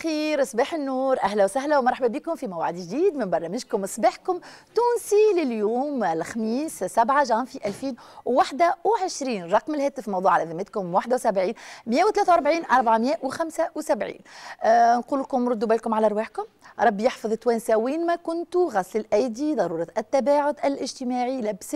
الخير، صباح النور، اهلا وسهلا ومرحبا بكم في موعد جديد من برنامجكم صباحكم تونسي لليوم الخميس 7 جانفي 2021. رقم الهاتف موضوع على ذمتكم 71 143 475. نقول لكم ردوا بالكم على رواحكم، ربي يحفظ التوانسة وين ما كنتوا، غسل الايدي، ضرورة التباعد الاجتماعي، لبس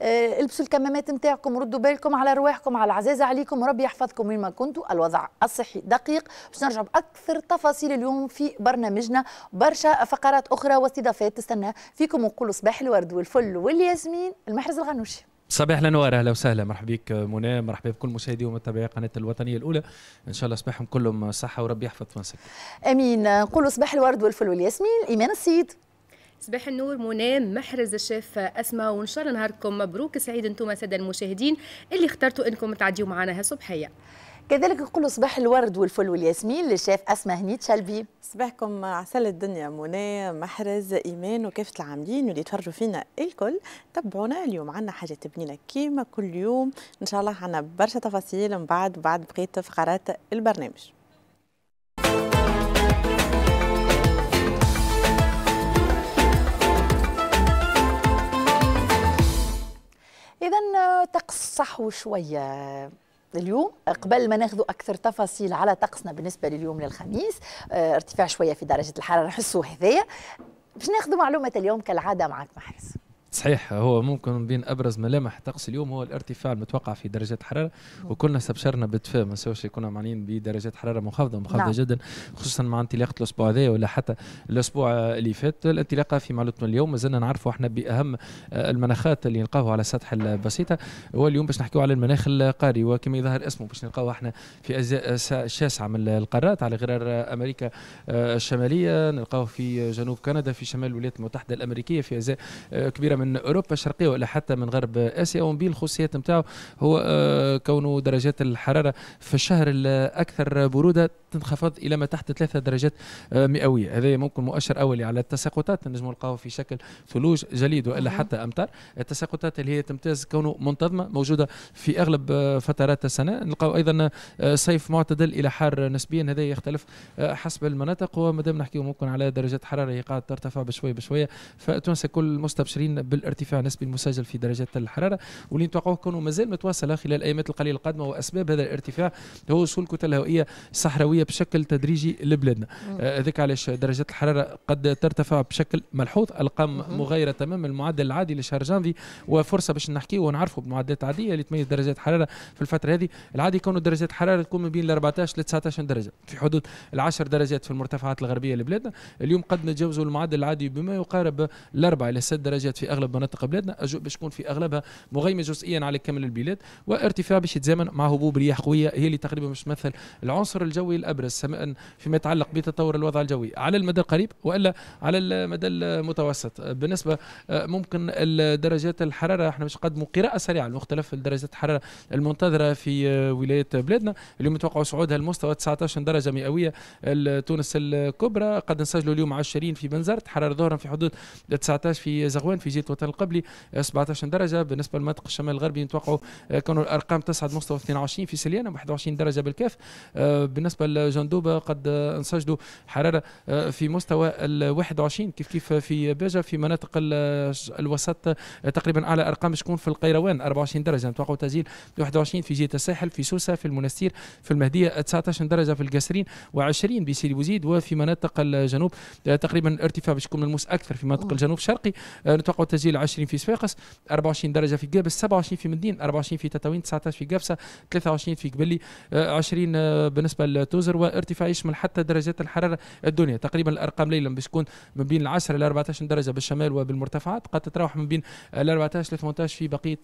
البسوا الكمامات نتاعكم، ردوا بالكم على رواحكم، على العزازه عليكم، وربي يحفظكم وين ما كنتوا. الوضع الصحي دقيق، باش نرجع باكثر تفاصيل اليوم في برنامجنا، برشا فقرات اخرى واستضافات تستنى فيكم. ونقولوا صباح الورد والفل والياسمين المحرز الغنوشي. صباح الانوار، اهلا وسهلا، مرحبا بك منى، مرحبا بكل مشاهدي ومتابعي قناة الوطنية الاولى، ان شاء الله صباحهم كلهم صحة وربي يحفظ تونسك. امين. نقولوا صباح الورد والفل والياسمين ايمان السيد. صباح النور منى، محرز، الشيف اسماء، وان شاء الله نهاركم مبروك سعيد انتم ساده المشاهدين اللي اخترتوا انكم تعديوا معنا هالصبحيه. كذلك نقولوا صباح الورد والفل والياسمين للشيف اسماء هنيد شلبي. صباحكم عسل الدنيا منى، محرز، ايمان وكافة العاملين واللي يتفرجوا فينا الكل. تبعونا اليوم، عندنا حاجات بنينه كيما كل يوم، ان شاء الله عندنا برشا تفاصيل من بعد بقية فقرات البرنامج. اذا طقس صحو شوية اليوم، قبل ما ناخذ اكثر تفاصيل على طقسنا بالنسبة لليوم للخميس، ارتفاع شوية في درجه الحرارة نحسوا هذايا، باش ناخذ معلومة اليوم كالعادة معك محرز. صحيح، هو ممكن بين ابرز ملامح طقس اليوم هو الارتفاع المتوقع في درجات الحرارة، وكلنا استبشرنا بالدفاء، ما نساوش كنا معنيين بدرجات حرارة منخفضة منخفضة. نعم. جدا، خصوصا مع انطلاقة الاسبوع هذا ولا حتى الاسبوع اللي فات. الانطلاقة في معلومتنا اليوم مازلنا نعرفوا احنا باهم المناخات اللي نلقاوها على سطح البسيطة، واليوم باش نحكيو على المناخ القاري، وكما يظهر اسمه باش نلقاوه احنا في اجزاء شاسعه من القارات، على غرار امريكا الشمالية، نلقاوه في جنوب كندا، في شمال الولايات المتحدة الامريكية، في اجزاء كبيرة من اوروبا الشرقية ولا حتى من غرب اسيا. ومن بين الخصوصيات نتاعو هو كونه درجات الحرارة في الشهر الاكثر برودة تنخفض الى ما تحت 3 درجات مئوية. هذا ممكن مؤشر اولي على التساقطات، نجم نلقاو في شكل ثلوج، جليد والا حتى امطار. التساقطات اللي هي تمتاز كونه منتظمة موجودة في اغلب فترات السنة. نلقاو ايضا صيف معتدل الى حار نسبيا، هذا يختلف حسب المناطق. ومادام نحكيو ممكن على درجات حرارة هي قاعدة ترتفع بشوي بشوية، فتونس كل مستبشرين بالارتفاع النسبي المسجل في درجات الحرارة، واللي نتوقعوه كونه مازال متواصلة خلال الايامات القليلة القادمة. واسباب هذا الارتفاع هو وصول كتل هوائية صحراويه بشكل تدريجي لبلادنا. هذاك علاش درجات الحرارة قد ترتفع بشكل ملحوظ، ارقام مغايرة تماما المعدل العادي لشهر جانفي، وفرصه باش نحكيو ونعرفوا بمعدلات عادية اللي تميز درجات الحرارة في الفترة هذه. العادي كونه درجات الحرارة تكون من بين 14 ل 19 درجه، في حدود 10 درجات في المرتفعات الغربية لبلادنا. اليوم قد نتجاوزوا المعدل العادي بما يقارب الاربع الى 6 درجات في اغلب مناطق بلادنا. اجواء باش تكون في اغلبها مغيمه جزئيا على كامل البلاد، وارتفاع باش يتزامن مع هبوب رياح قوية هي اللي تقريبا باش تمثل العنصر الجوي الابرز سواء فيما يتعلق بتطور الوضع الجوي على المدى القريب والا على المدى المتوسط. بالنسبة ممكن درجات الحرارة، احنا باش نقدموا قراءة سريعة لمختلف درجات الحرارة المنتظره في ولايات بلادنا. اليوم نتوقعوا صعودها لمستوى 19 درجه مئوية تونس الكبرى، قد نسجلوا اليوم 20 في بنزرت، حرارة ظهرا في حدود 19 في زغوان، في جهة وطن القبلي 17 درجه. بالنسبة لمناطق الشمال الغربي نتوقعوا كانوا الارقام تصعد مستوى 22 في سليانه، 21 درجه بالكاف. بالنسبة لجندوبه قد نسجلوا حرارة في مستوى ال 21 كيف كيف في باجه. في مناطق الوسط تقريبا اعلى ارقام تكون في القيروان 24 درجه، نتوقعوا تسجيل 21 في جهة الساحل، في سوسة، في المنستير، في المهدية 19 درجه في القصرين، و20 بسيدي بوزيد. وفي مناطق الجنوب تقريبا ارتفاع باش يكون ملموس اكثر في مناطق الجنوب الشرقي، نتوقعوا تسجيل 20 في صفاقس، 24 درجه في قابس، 27 في مدين، 24 في تطاوين، 19 في قفصه، 23 في قبلي، 20 بالنسبة لتوزر. وارتفاع يشمل حتى درجات الحرارة الدنيا. تقريبا الارقام ليلا باش تكون من بين 10 الى 14 درجه بالشمال وبالمرتفعات، قد تتراوح من بين 14 ل 18 في بقية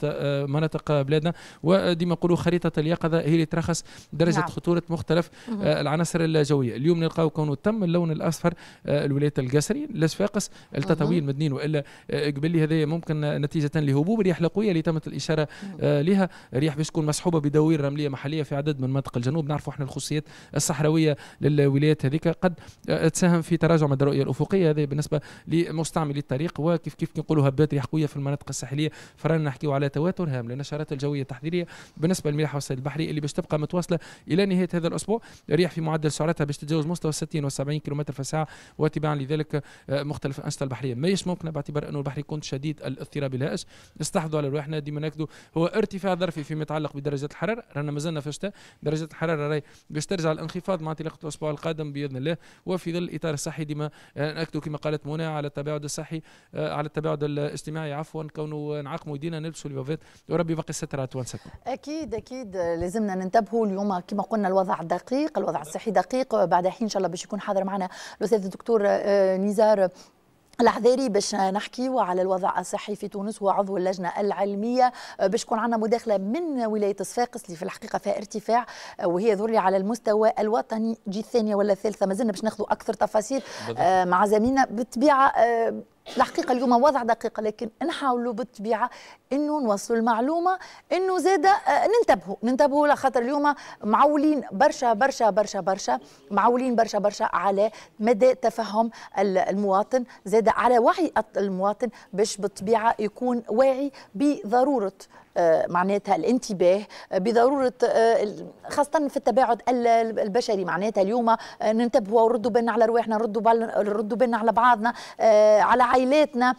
مناطق بلادنا. وديما نقولوا خريطة اليقظة هي اللي ترخص درجه. نعم. خطورة مختلف العناصر الجوية. اليوم نلقاو كونه تم اللون الاصفر الولايات القصري، الصفاقس، التطاوين، مدنين والا قبلي. هذا ممكن نتيجة لهبوب الرياح القوية اللي تمت الاشارة لها، رياح باش تكون مصحوبه بدوائر رمليه محليه في عدد من مناطق الجنوب. نعرفوا احنا الخصوصيات الصحراوية الصحراوية للولايات هذيك قد تساهم في تراجع مدى الرؤية الافقية. هذا بالنسبة لمستعملي الطريق. وكيف كيف نقولوا هبات ريح قوية في المناطق الساحلية، فرانا نحكيو على تواتر هام للنشرات الجوية التحذيريه بالنسبة للملاحه والصيد البحري اللي باش تبقى متواصلة الى نهاية هذا الاسبوع. ريح في معدل سرعتها باش تتجاوز مستوى 60 و70 كم في الساعة، وتباعا لذلك مختلف الانشطة البحرية ماهيش ممكنة باعتبار انه البحر يكون شديد الاضطراب الهائج. نستحفظوا على رواحنا ديما ناكدوا هو ارتفاع ظرفي فيما يتعلق بدرجات الحرارة، رانا مازلنا في الشتاء، درجات الحرارة راهي باش ترجع الانخفاض مع انطلاقة الاسبوع القادم باذن الله. وفي ظل الاطار الصحي ديما ناكدوا كما قالت منى على التباعد الصحي، على التباعد الاجتماعي عفوا، كونه نعقموا يدينا نلبسوا les bavettes وربي يبقي الستر على توانسة. اكيد اكيد لازمنا ننتبهوا اليوم كما قلنا الوضع دقيق، الوضع الصحي دقيق. بعد حين ان شاء الله باش يكون حاضر معنا الاستاذ الدكتور نزار العذاري باش نحكيو على الوضع الصحي في تونس، هو عضو اللجنة العلمية. باش يكون عندنا مداخله من ولاية صفاقس اللي في الحقيقة فيها ارتفاع، وهي ذري على المستوى الوطني جي الثانية ولا الثالثة، مازلنا باش ناخذوا اكثر تفاصيل مع زميلنا. بالطبيعة الحقيقة اليوم وضع دقيق، لكن نحاولوا بالطبيعة انه نوصلوا المعلومة انه زاده ننتبهوا لخاطر اليوم معولين برشا برشا برشا برشا، معولين برشا برشا على مدى تفهم المواطن، زاده على وعي المواطن باش بالطبيعة يكون واعي بضرورة معناتها الانتباه، بضرورة خاصة في التباعد البشري. معناتها اليوم ننتبهوا ونردوا بالنا على رواحنا، نردوا بالنا على بعضنا، على عائلاتنا.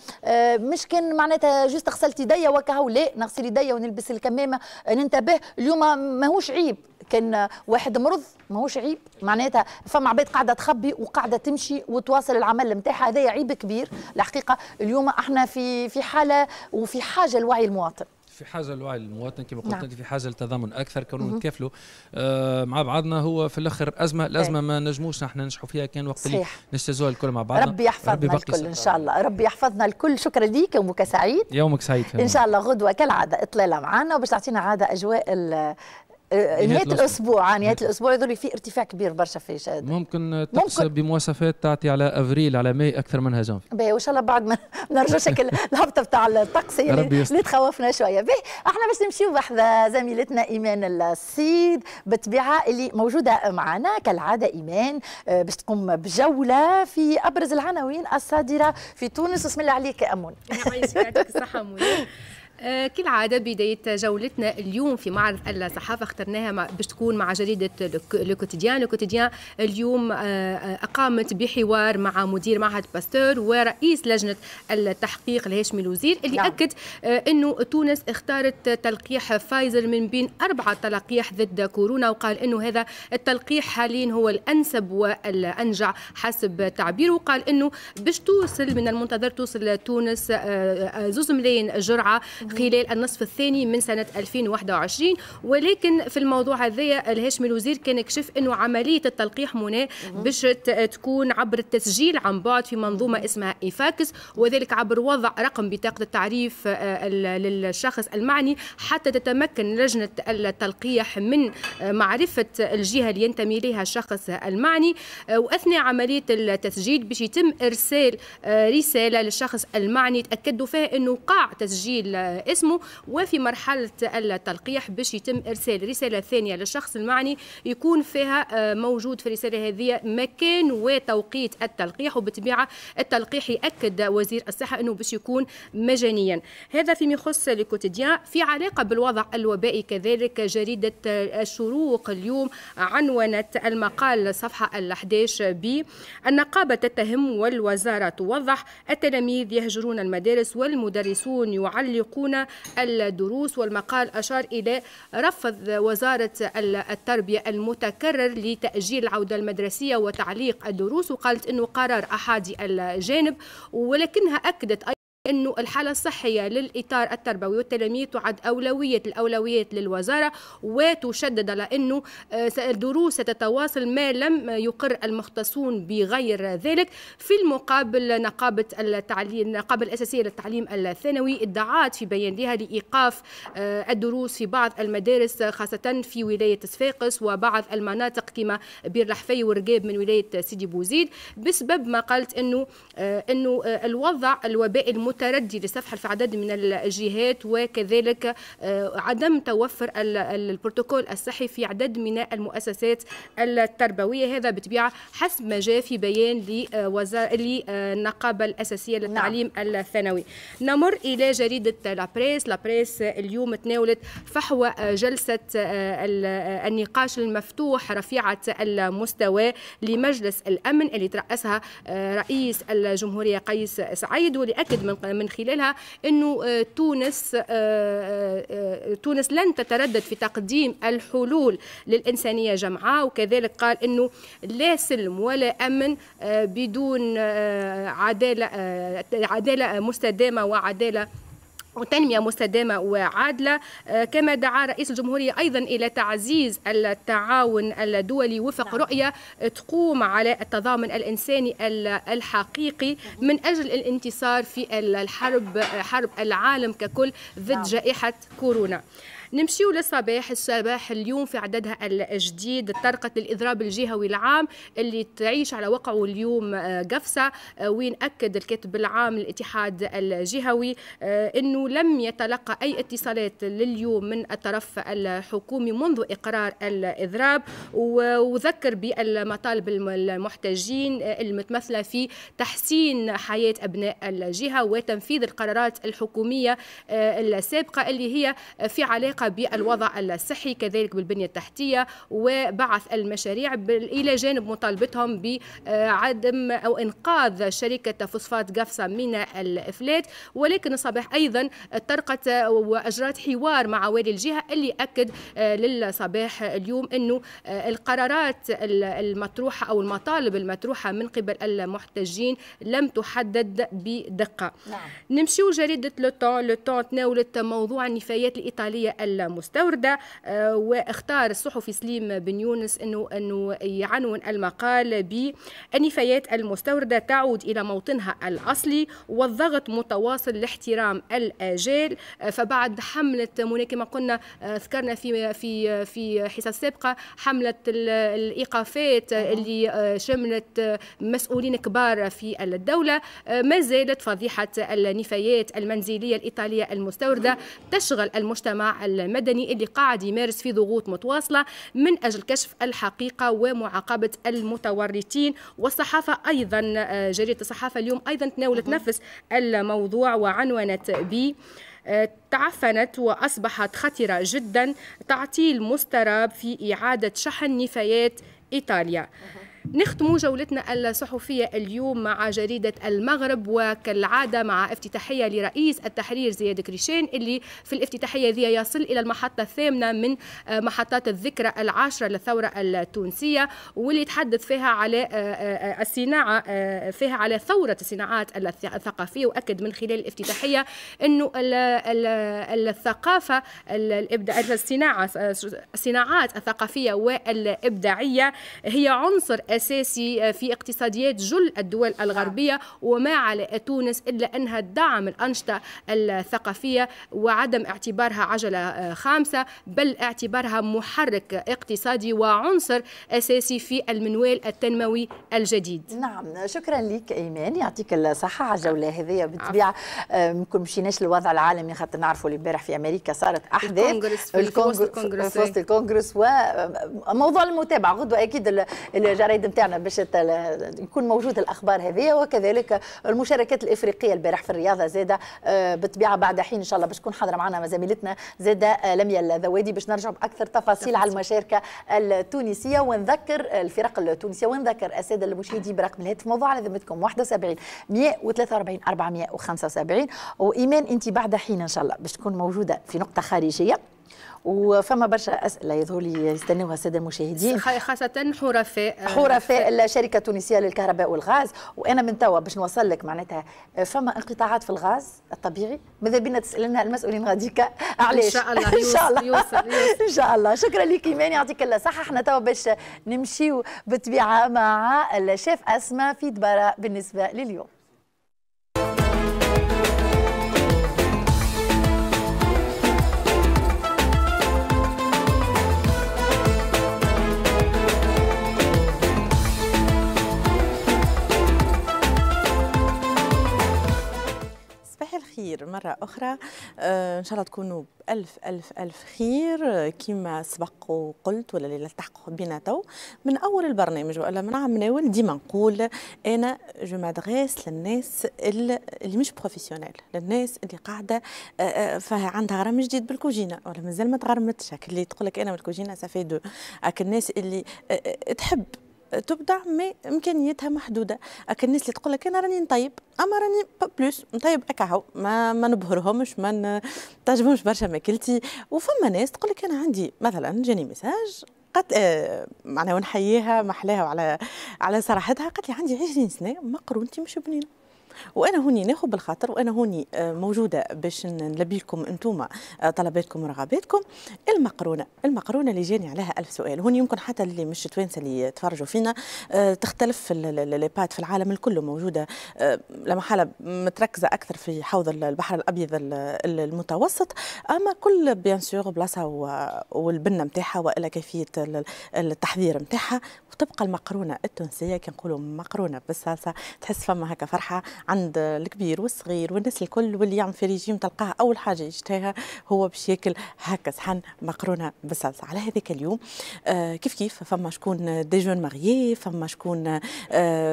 مش كان معناتها juste غسلت يديا وكهو، لا نغسل يديا ونلبس الكمامة. ننتبه اليوم ماهوش عيب كان واحد مرض، ماهوش عيب معناتها فما عباد قاعدة تخبي وقاعدة تمشي وتواصل العمل نتاعها، هذا عيب كبير الحقيقة. اليوم احنا في حاله وفي حاجة لوعي المواطن، في حاجة لوعي المواطن كما قلت انت، في حاجة للتضامن اكثر، كونوا نتكافلوا مع بعضنا. هو في الاخر ازمة، الازمة ما نجموش نحن ننجحوا فيها كان وقت اللي نجتازوها الكل مع بعضنا. ربي يحفظنا الكل ان شاء الله، ربي يحفظنا الكل. شكرا ليك، يومك سعيد. يومك سعيد ان شاء الله. غدوه كالعادة اطلالة معنا وباش تعطينا عادة اجواء نهاية الاسبوع. نهاية الاسبوع يظل في ارتفاع كبير برشا في شاد. ممكن تقص بمواصفات تعطي على افريل على ماي اكثر منها جانفي. باهي، وان شاء الله بعد ما نرجعوا شكل الهبطه بتاع الطقس اللي تخوفنا شوية. باهي، احنا باش نمشيو بحذا زميلتنا ايمان السيد بالطبيعة اللي موجودة معنا كالعادة. ايمان باش تقوم بجولة في ابرز العناوين الصادرة في تونس. بسم الله عليك يا امون. يعطيك الصحة منى. كالعادة بداية جولتنا اليوم في معرض الصحافة اخترناها باش تكون مع جريدة Le Quotidien. Le Quotidien اليوم أقامت بحوار مع مدير معهد باستور ورئيس لجنة التحقيق الهاشمي الوزير اللي نعم. أكد أنه تونس اختارت تلقيح فايزر من بين 4 تلقيح ضد كورونا، وقال أنه هذا التلقيح حاليا هو الأنسب والأنجع حسب تعبيره. وقال أنه باش توصل من المنتظر توصل تونس 2 ملايين جرعة خلال النصف الثاني من سنة 2021. ولكن في الموضوع هذايا الهاشمي الوزير كان كشف أنه عملية التلقيح منى باش تكون عبر التسجيل عن بعد في منظومة اسمها إيفاكس، وذلك عبر وضع رقم بطاقة التعريف للشخص المعني حتى تتمكن لجنة التلقيح من معرفة الجهة اللي ينتمي لها الشخص المعني. وأثناء عملية التسجيل باش يتم إرسال رسالة للشخص المعني تأكدوا فيها أنه قاع تسجيل اسمه، وفي مرحلة التلقيح باش يتم إرسال رسالة ثانية للشخص المعني يكون فيها موجود في الرسالة هذه مكان وتوقيت التلقيح. وبالطبيعة التلقيح يأكد وزير الصحة أنه باش يكون مجانيا. هذا فيما يخص Le Quotidien. في علاقة بالوضع الوبائي كذلك جريدة الشروق اليوم عنونت المقال صفحة 11 ب النقابة تتهم والوزارة توضح، التلاميذ يهجرون المدارس والمدرسون يعلقون الدروس. والمقال أشار إلى رفض وزارة التربية المتكرر لتأجيل العودة المدرسية وتعليق الدروس، وقالت أنه قرار أحادي الجانب، ولكنها أكدت أنه الحالة الصحية للإطار التربوي والتلاميذ تعد أولوية الأولويات للوزارة، وتشدد على أنه الدروس ستتواصل ما لم يقر المختصون بغير ذلك. في المقابل نقابة التعليم، النقابة الأساسية للتعليم الثانوي ادعت في بيان لها لإيقاف الدروس في بعض المدارس خاصة في ولاية صفاقس وبعض المناطق كما بير الحفي ورقاب من ولاية سيدي بوزيد، بسبب ما قالت أنه الوضع الوبائي متردي للسفح في عدد من الجهات، وكذلك عدم توفر البروتوكول الصحي في عدد من المؤسسات التربوية. هذا بطبيعة حسب ما جاء في بيان للنقابة الأساسية للتعليم الثانوي. نمر إلى جريدة La Presse. La Presse اليوم تناولت فحوى جلسة النقاش المفتوح رفيعة المستوى لمجلس الأمن اللي ترأسها رئيس الجمهورية قيس سعيد، واللي أكد من خلالها أنه تونس لن تتردد في تقديم الحلول للإنسانية جمعاء، وكذلك قال أنه لا سلم ولا أمن بدون عدالة مستدامة وعدالة وتنمية مستدامة وعادلة. كما دعا رئيس الجمهورية أيضا إلى تعزيز التعاون الدولي وفق رؤية تقوم على التضامن الإنساني الحقيقي من أجل الانتصار في الحرب، حرب العالم ككل ضد جائحة كورونا. نمشيو للصباح. الصباح اليوم في عددها الجديد طرقت للإضراب الجهوي العام اللي تعيش على وقعه اليوم قفصة، وين أكد الكاتب العام للاتحاد الجهوي أنه لم يتلقى أي اتصالات لليوم من الطرف الحكومي منذ إقرار الإضراب، وذكر بالمطالب المحتجين المتمثلة في تحسين حياة أبناء الجهة وتنفيذ القرارات الحكومية السابقة اللي هي في علاقة بالوضع الصحي، كذلك بالبنية التحتية وبعث المشاريع، إلى جانب مطالبتهم بعدم أو إنقاذ شركة فوسفات قفصة من الإفلات. ولكن الصباح أيضا طرقت وأجرت حوار مع والي الجهة اللي أكد للصباح اليوم أنه القرارات المطروحة أو المطالب المطروحة من قبل المحتجين لم تحدد بدقة. نمشيو جريدة Le Temps. Le Temps تناولت موضوع النفايات الإيطالية المستوردة، واختار الصحفي سليم بن يونس انه يعنون المقال بالنفايات المستوردة تعود الى موطنها الاصلي والضغط متواصل لاحترام الاجال. فبعد حملة منى كما قلنا ذكرنا في في في حصص سابقة حملة الايقافات اللي شملت مسؤولين كبار في الدولة، ما زالت فضيحة النفايات المنزلية الإيطالية المستوردة تشغل المجتمع المدني اللي قاعد يمارس في ضغوط متواصلة من أجل كشف الحقيقة ومعاقبة المتورطين. والصحافة أيضا، جريدة الصحافة اليوم أيضا تناولت نفس الموضوع وعنونت ب تعفنت وأصبحت خطرة جدا، تعطيل مستراب في إعادة شحن نفايات إيطاليا. نختم جولتنا الصحفية اليوم مع جريدة المغرب، وكالعادة مع افتتاحية لرئيس التحرير زياد كريشان اللي في الافتتاحية ذي يصل إلى المحطة الثامنة من محطات الذكرى العاشرة للثورة التونسية، واللي تحدث فيها على الصناعة، فيها على ثورة الصناعات الثقافية، وأكد من خلال الافتتاحية أنه الثقافة الصناعات الثقافية والإبداعية هي عنصر أساسي في اقتصاديات جل الدول الغربية، وما على تونس إلا أنها تدعم الأنشطة الثقافية وعدم اعتبارها عجلة خامسة، بل اعتبارها محرك اقتصادي وعنصر أساسي في المنوال التنموي الجديد. نعم، شكرا لك إيمان، يعطيك الصحة على الجولة هذه. بالطبيعة ممكن مشيناش للوضع العالمي خاطر نعرفوا اللي امبارح في أمريكا صارت أحداث في وسط الكونغرس، وموضوع المتابعة غدوة أكيد الجرايد نتاعنا باش يكون موجود الاخبار هذه، وكذلك المشاركات الافريقية البارح في الرياضة زاده بالطبيعة بعد حين ان شاء الله باش تكون حاضره معنا زميلتنا زاده لميا الذوادي باش نرجع باكثر تفاصيل على المشاركة التونسية، ونذكر الفرق التونسية ونذكر السادة المشاهدين برقم الهاتف موضوع على ذمتكم 71 143 475. وايمان انت بعد حين ان شاء الله باش تكون موجودة في نقطة خارجية، وفما برشا اسئلة يظهر لي يستناوها السادة المشاهدين، خاصة حرفاء الشركة التونسية للكهرباء والغاز. وانا من توا باش نوصل لك معناتها فما انقطاعات في الغاز الطبيعي، ماذا بينا تسالنا المسؤولين غاديكا علاش. ان شاء الله ان شاء الله يوصل. ان شاء الله. شكرا لك ايمان، يعطيك الصحة. احنا توا باش نمشيو بالطبيعة مع الشيف اسماء في دبره بالنسبة لليوم. أخرى. إن شاء الله تكونوا بألف ألف ألف خير. كما سبق وقلت ولا اللي التحقوا بنا تو من أول البرنامج ولا من عام ناول، ديما نقول أنا je m'adresse للناس اللي مش professionnels، للناس اللي قاعدة عندها غرام جديد بالكوجينة ولا مازال ما تغرمتش، اللي تقول لك أنا بالكوجينة ça fait deux، الناس اللي تحب تبدع mais امكانياتها محدودة، اك الناس اللي تقول لك انا راني نطيب اما راني pas plus نطيب اكاهو، ما نبهرهمش، ما تعجبهمش برشا ماكلتي. وفما ناس تقول لك انا عندي مثلا جاني message قالت معناها ونحييها محلاها وعلى على صراحتها، قالت لي عندي 20 سنة مقرونتي مش بنينه، وانا هوني ناخذ بالخاطر، وانا هوني موجودة باش نلبي لكم انتوما طلباتكم ورغباتكم. المقرونه اللي جاني عليها ألف سؤال، هوني يمكن حتى اللي مش توانسة اللي تفرجوا فينا تختلف les pâtes في العالم الكل موجودة، لا محالة متركزه اكثر في حوض البحر الابيض المتوسط، اما كل bien sûr بلاصة والبنه نتاعها والا كيفية التحضير نتاعها. وتبقى المقرونه التونسية كي نقولوا مقرونة بالصلصه تحس فما هكا فرحه عند الكبير والصغير والناس الكل، واللي يعمل في ريجيم تلقاه اول حاجة يشتهيها هو باش ياكل هكا صحن مقرونة بالصلصه. على هذاك اليوم كيف كيف فما شكون des jeunes mariés، فما شكون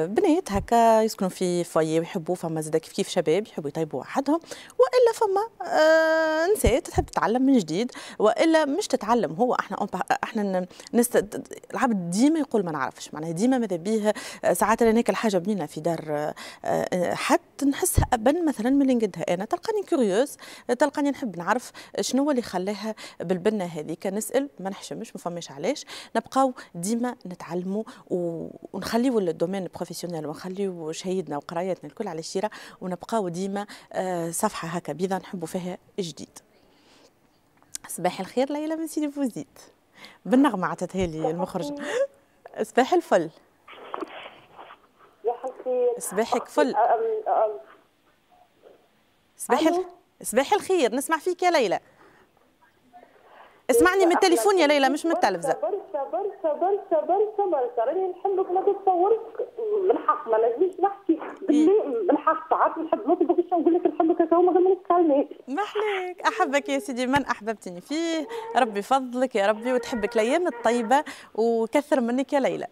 بنات هكا يسكنوا في foyer ويحبوا، فما زاد كيف كيف شباب يحبوا يطيبوا وحدهم، والا فما نساء تحب تتعلم من جديد، والا مش تتعلم. هو احنا العبد ديما يقول ما نعرفش، معناها ديما ماذا بيه ساعات انا ناكل حاجة بنينه في دار حتى نحسها أبن مثلا من اللي نقدها انا، تلقاني curieuse، تلقاني نحب نعرف شنو اللي خلاها بالبنه هذيك، نسال ما نحشمش، ما فماش علاش، نبقاو ديما نتعلموا ونخليو ال domaine professionnel ونخليو شهيدنا وقرايتنا الكل على الشيره، ونبقاو ديما صفحة هكا بيضة نحبوا فيها جديد. صباح الخير ليلى من سيدي بوزيد، بالنغمه عطتها لي المخرج. صباح الفل. صباحك فل. صباح الخير، نسمع فيك يا ليلى. اسمعني من التليفون يا ليلى مش من التلفزة. برشا برشا برشا برشا برشا راني نحبك ما تتصورش، بالحق ما نجمش نحكي بالحق، ساعات نحب نطلبك باش نقول لك نحبك هكا وما ما نتكلمش. محليك، احبك يا سيدي من احببتني فيه، ربي فضلك يا ربي وتحبك الايام الطيبة وكثر منك يا ليلى.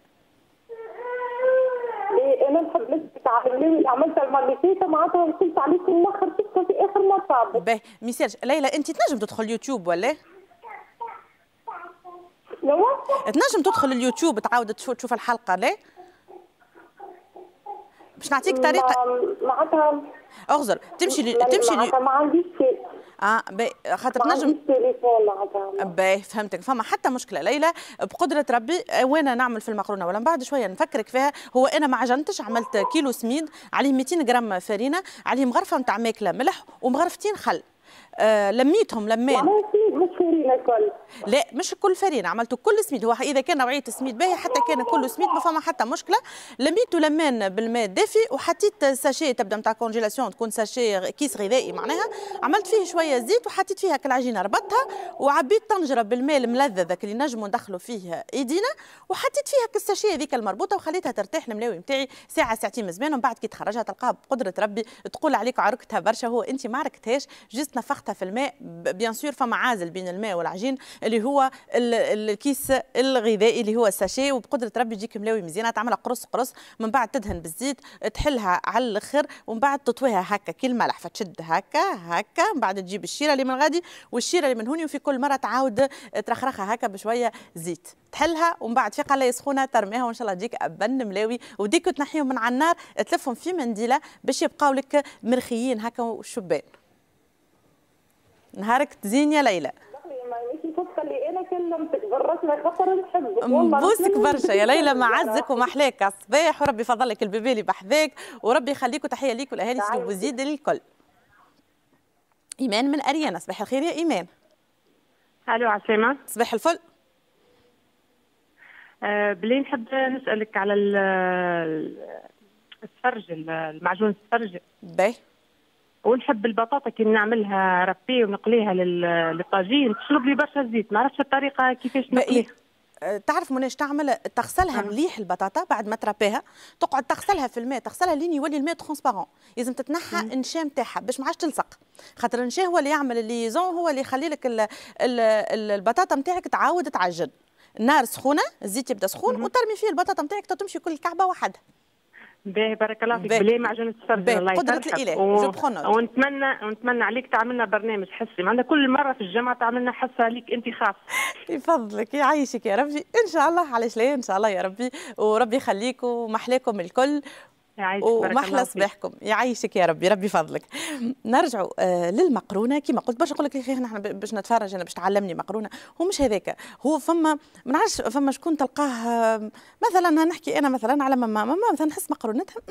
انا نحب نتعلم، عملت المرة اللي فاتت معناتها وصلت عليك الاخر شفتها في اخر مرة. باهي ميسالش ليلى، انت تنجم تدخل اليوتيوب ولا؟ تنجم تدخل اليوتيوب تعاود تشوف الحلقة لا؟ باش نعطيك طريقه معناتها اغزر تمشي تمشي معناتها ما عنديش باهي خاطر تنجم تليفون معناتها. باهي فهمتك، فما حتى مشكلة ليلى بقدره ربي وانا نعمل في المقرونه ولا من بعد شوية نفكرك فيها. هو انا ما عجنتش، عملت كيلو سميد عليه 200 غرام فرينه، عليه مغرفه نتاع ماكله ملح ومغرفتين خل. لميتهم لمان. مش فرينه الكل. لا مش كل فرينه، عملته كل سميد. هو اذا كان نوعية السميد باهي حتى كان كله سميد ما فما حتى مشكلة. لميته لمان بالماء الدافي وحطيت sachet تبدا نتاع congélation، تكون sachet كيس غذائي معناها، عملت فيه شوية زيت وحطيت فيها العجينة، ربطتها وعبيت طنجره بالماء الملذذ ذاك اللي نجموا ندخلوا فيه ايدينا، وحطيت فيها ال sachet هذيك المربوطه وخليتها ترتاح الملاوي نتاعي ساعة ساعتين مزمان. ومن بعد كي تخرجها تلقاها بقدره ربي تقول عليك عركتها برشا، هو انت ما عركتهاش، juste نفختها في الماء. bien sûr فما عازل بين الماء والعجين اللي هو الكيس الغذائي اللي هو ال sachet، وبقدره ربي تجيك ملاوي مزيانه، تعملها قرص قرص، من بعد تدهن بالزيت، تحلها على الاخر ومن بعد تطويها هكا كي الملح، فتشد هكا هكا، من بعد تجيب الشيره اللي من غادي والشيره اللي من هوني، وفي كل مرة تعاود ترخرخها هكا بشوية زيت، تحلها ومن بعد في قلايه سخونة ترميها وان شاء الله تجيك ابن ملاوي. وديك تنحيهم من على النار تلفهم في منديله باش يبقاو لك مرخيين هكا وشبان. نهارك تزين يا ليلى. اللي انا كلمتك بالرسمي خاطر نحبك والله، نبوسك برشا يا ليلى، معزك ومحلاك على الصباح، وربي يفضلك ال bébé اللي بحذاك وربي يخليك، وتحية ليك والاهالي سيدي بوزيد الكل. ايمان من اريانا، صباح الخير يا ايمان. الو عسلامة. صباح الفل. بلي نحب نسالك على السفرج، المعجون السفرج. باهي. ونحب البطاطا كي نعملها râpée ونقليها للطاجين تشرب لي برشا زيت، ما عرفتش الطريقة كيفاش نقليها. تعرف مناش تعمل؟ تغسلها مليح البطاطا بعد ما تربيها، تقعد تغسلها في الماء، تغسلها لين يولي الماء transparent، لازم تتنحى النشا نتاعها باش ما عادش تلصق، خاطر النشا هو اللي يعمل ال liaison، هو اللي يخلي لك البطاطا نتاعك تعاود تعجن. النار سخونة، الزيت يبدا سخون وترمي فيه البطاطا نتاعك تمشي كل كعبه وحدها. باهي بارك الله فيك. بلي معجون السفرجل الله يفرحك. قدرة الإله. je prends. ونتمنى عليك تعملنا برنامج حصي، معنا كل مرة في الجامعة تعملنا حصة ليك أنت خاص. يفضلك يعيشك يا ربي، إن شاء الله. علاش لا، إن شاء الله يا ربي، وربي يخليك ومحلاكم الكل ومحلى صباحكم. يعيشك يا ربي، ربي فضلك. نرجعوا للمقرونه. كما قلت برشا نقول لك يا اخي نحن باش نتفرج انا باش تعلمني مقرونة، هو مش هذاك هو. فما ما نعرفش فما شكون تلقاه مثلا، نحكي انا مثلا على ماما مثلا نحس مقرونتها